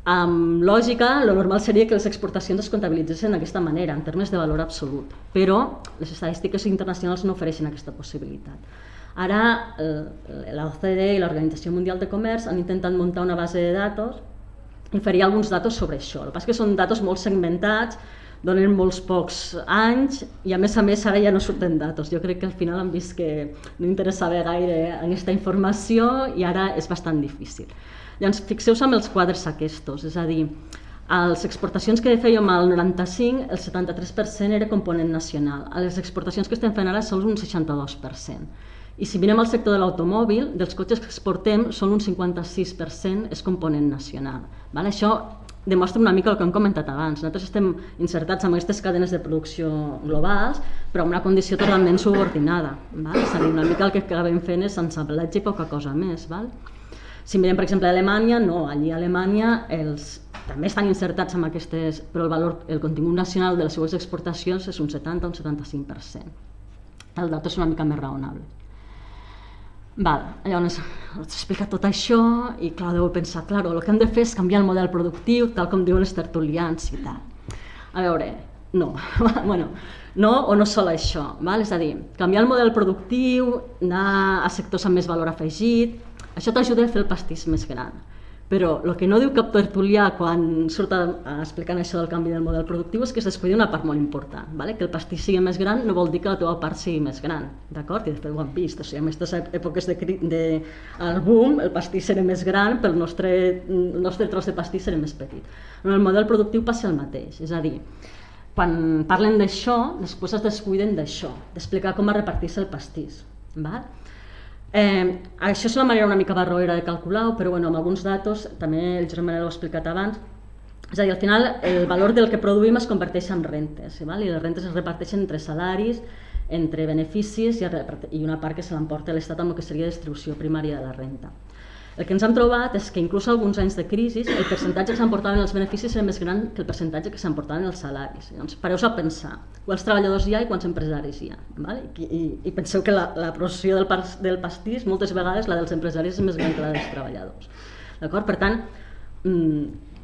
amb lògica, el normal seria que les exportacions es comptabilitzessin d'aquesta manera, en termes de valor absolut, però les estadístiques internacionals no ofereixen aquesta possibilitat. Ara, l'OCDE i l'Organització Mundial de Comerç han intentat muntar una base de datos i oferir alguns datos sobre això. El que passa és que són datos molt segmentats, donen molts pocs anys i a més ara ja no surten datos. Jo crec que al final han vist que no interessava gaire aquesta informació i ara és bastant difícil. Llavors, fixeu-vos amb els quadres aquests, és a dir, a les exportacions que fèiem al 95, el 73% era component nacional. A les exportacions que estem fent ara són un 62%. I si mirem el sector de l'automòbil, dels cotxes que exportem, són un 56% és component nacional. Això demostra una mica el que hem comentat abans. Nosaltres estem insertats en aquestes cadenes de producció globals, però en una condició totalment subordinada. És a dir, una mica el que acabem fent és ensamblatge i poca cosa més. Si mirem, per exemple, a Alemanya, no, allí a Alemanya també estan insertats en aquestes, però el contingut nacional de les seues exportacions és un 70 o un 75%. El dato és una mica més raonable. Llavors, us he explicat tot això i, clar, deu pensar, el que hem de fer és canviar el model productiu, tal com diuen els tertulians i tal. A veure, no, no o no sol això, és a dir, canviar el model productiu, anar a sectors amb més valor afegit, això t'ajuda a fer el pastís més gran. Però el que no diu cap tertulià quan surt explicant això del canvi del model productiu és que es descuida una part molt important. Que el pastís sigui més gran no vol dir que la teva part sigui més gran. D'acord? I de fet ho hem vist. En aquestes èpoques del boom el pastís serà més gran, però el nostre tros de pastís serà més petit. En el model productiu passa el mateix. És a dir, quan parlen d'això, després es descuiden d'això, d'explicar com es reparteix el pastís. Això és una manera una mica barroera de calcular-ho, però amb alguns datos, també el Josep Manel ho ha explicat abans, és a dir, al final el valor del que produïm es converteix en rentes, i les rentes es reparteixen entre salaris, entre beneficis i una part que se l'emporta l'Estat amb el que seria distribució primària de la renta. El que ens hem trobat és que inclús alguns anys de crisi el percentatge que s'emportaven els beneficis era més gran que el percentatge que s'emportaven els salaris. Llavors, pareu-vos a pensar quants treballadors hi ha i quants empresaris hi ha. I penseu que la proporció del pastís, moltes vegades la dels empresaris és més gran que la dels treballadors. Per tant,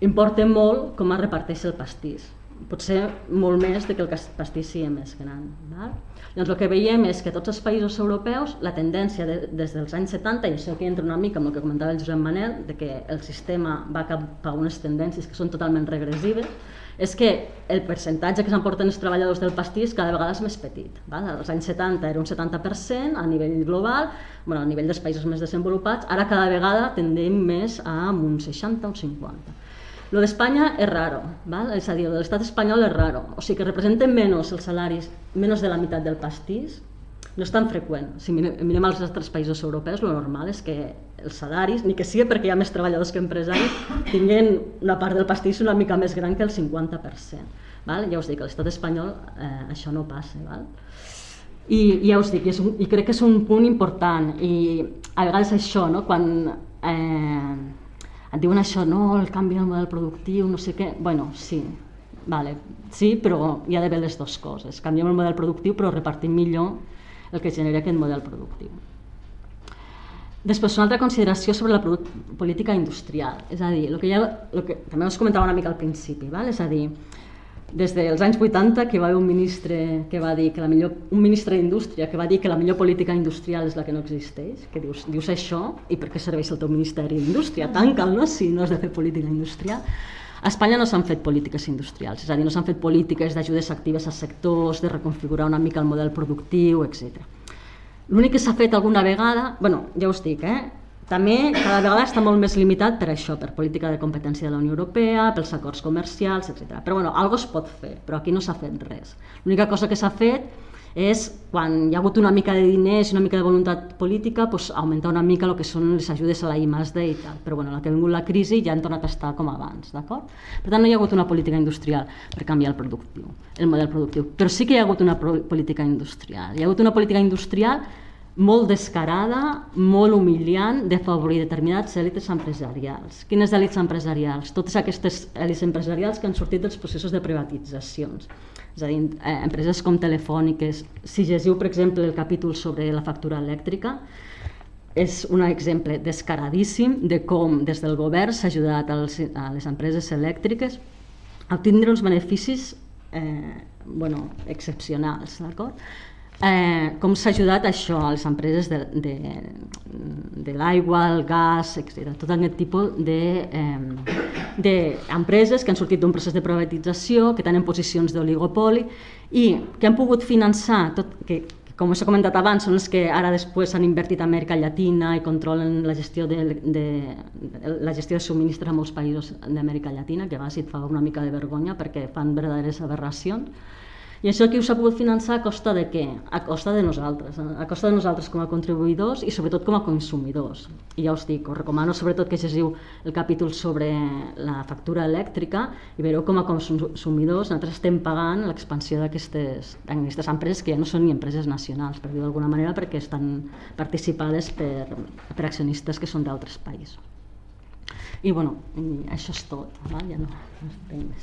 importa molt com es reparteix el pastís. Potser molt més que el pastís sigui més gran. Doncs el que veiem és que tots els països europeus, la tendència des dels anys 70, i això que entra una mica amb el que comentava el Josep Manel, que el sistema va cap a unes tendències que són totalment regressives, és que el percentatge que s'emporten els treballadors del pastís cada vegada és més petit. Als anys 70 era un 70% a nivell global, a nivell dels països més desenvolupats, ara cada vegada tendem més a un 60 o un 50%. Lo d'Espanya és raro, és a dir, lo de l'estat espanyol és raro, o sigui que representen menys els salaris, menys de la meitat del pastís, no és tan freqüent. Si mirem els altres països europeus, el normal és que els salaris, ni que sigui perquè hi ha més treballadors que empresaris, tinguin una part del pastís una mica més gran que el 50%. Val? Ja us dic, a l'estat espanyol això no passa. Val? I ja us dic, i crec que és un punt important, i a vegades això, no? Quan et diuen això, no, el canvi del model productiu, no sé què, bueno, sí, vale, sí, però hi ha d'haver les dues coses, canviem el model productiu però repartim millor el que genera aquest model productiu. Després, una altra consideració sobre la política industrial, és a dir, el que també us comentava una mica al principi, val? És a dir, des dels anys 80 que va haver un ministre que va dir que un ministre d'Indústria que va dir que la millor política industrial és la que no existeix, que dius això i per què serveix el teu Ministeri d'Indústria? Tanca'l, no? Si no has de fer política industrial. A Espanya no s'han fet polítiques industrials, és a dir, no s'han fet polítiques d'ajudes actives a sectors, de reconfigurar una mica el model productiu, etc. L'únic que s'ha fet alguna vegada, bueno, ja us dic, també cada vegada està molt més limitat per això, per política de competència de la Unió Europea, pels acords comercials, etc. Però bueno, alguna cosa es pot fer, però aquí no s'ha fet res. L'única cosa que s'ha fet és, quan hi ha hagut una mica de diners i una mica de voluntat política, doncs, augmentar una mica el que són les ajudes a la I+D i tal. Però bueno, la que ha vingut la crisi ja han tornat a estar com abans, d'acord? Per tant, no hi ha hagut una política industrial per canviar el model productiu. Però sí que hi ha hagut una política industrial. Hi ha hagut una política industrial molt descarada, molt humiliant, d'afavorir determinats èlites empresarials. Quines èlites empresarials? Totes aquestes èlites empresarials que han sortit dels processos de privatitzacions. És a dir, empreses com Telefòniques. Si llegiu, per exemple, el capítol sobre la factura elèctrica, és un exemple descaradíssim de com des del govern s'ha ajudat a les empreses elèctriques a obtindre uns beneficis excepcionals, d'acord? Com s'ha ajudat això a les empreses de l'aigua, el gas, etc. Tot aquest tipus d'empreses que han sortit d'un procés de privatització, que tenen posicions d'oligopoli i que han pogut finançar, que com us he comentat abans, són els que ara després han invertit a Amèrica Llatina i controlen la gestió de subministres a molts països d'Amèrica Llatina, que a vegades et fa una mica de vergonya perquè fan verdaderes aberracions. I això aquí us ha pogut finançar a costa de què? A costa de nosaltres com a contribuïdors i sobretot com a consumidors. I ja us dic, us recomano sobretot que llegiu el capítol sobre la factura elèctrica i veureu com a consumidors nosaltres estem pagant l'expansió d'aquestes empreses que ja no són ni empreses nacionals, per dir-ho d'alguna manera, perquè estan participades per accionistes que són d'altres països. I bueno, això és tot, ja no entenc més.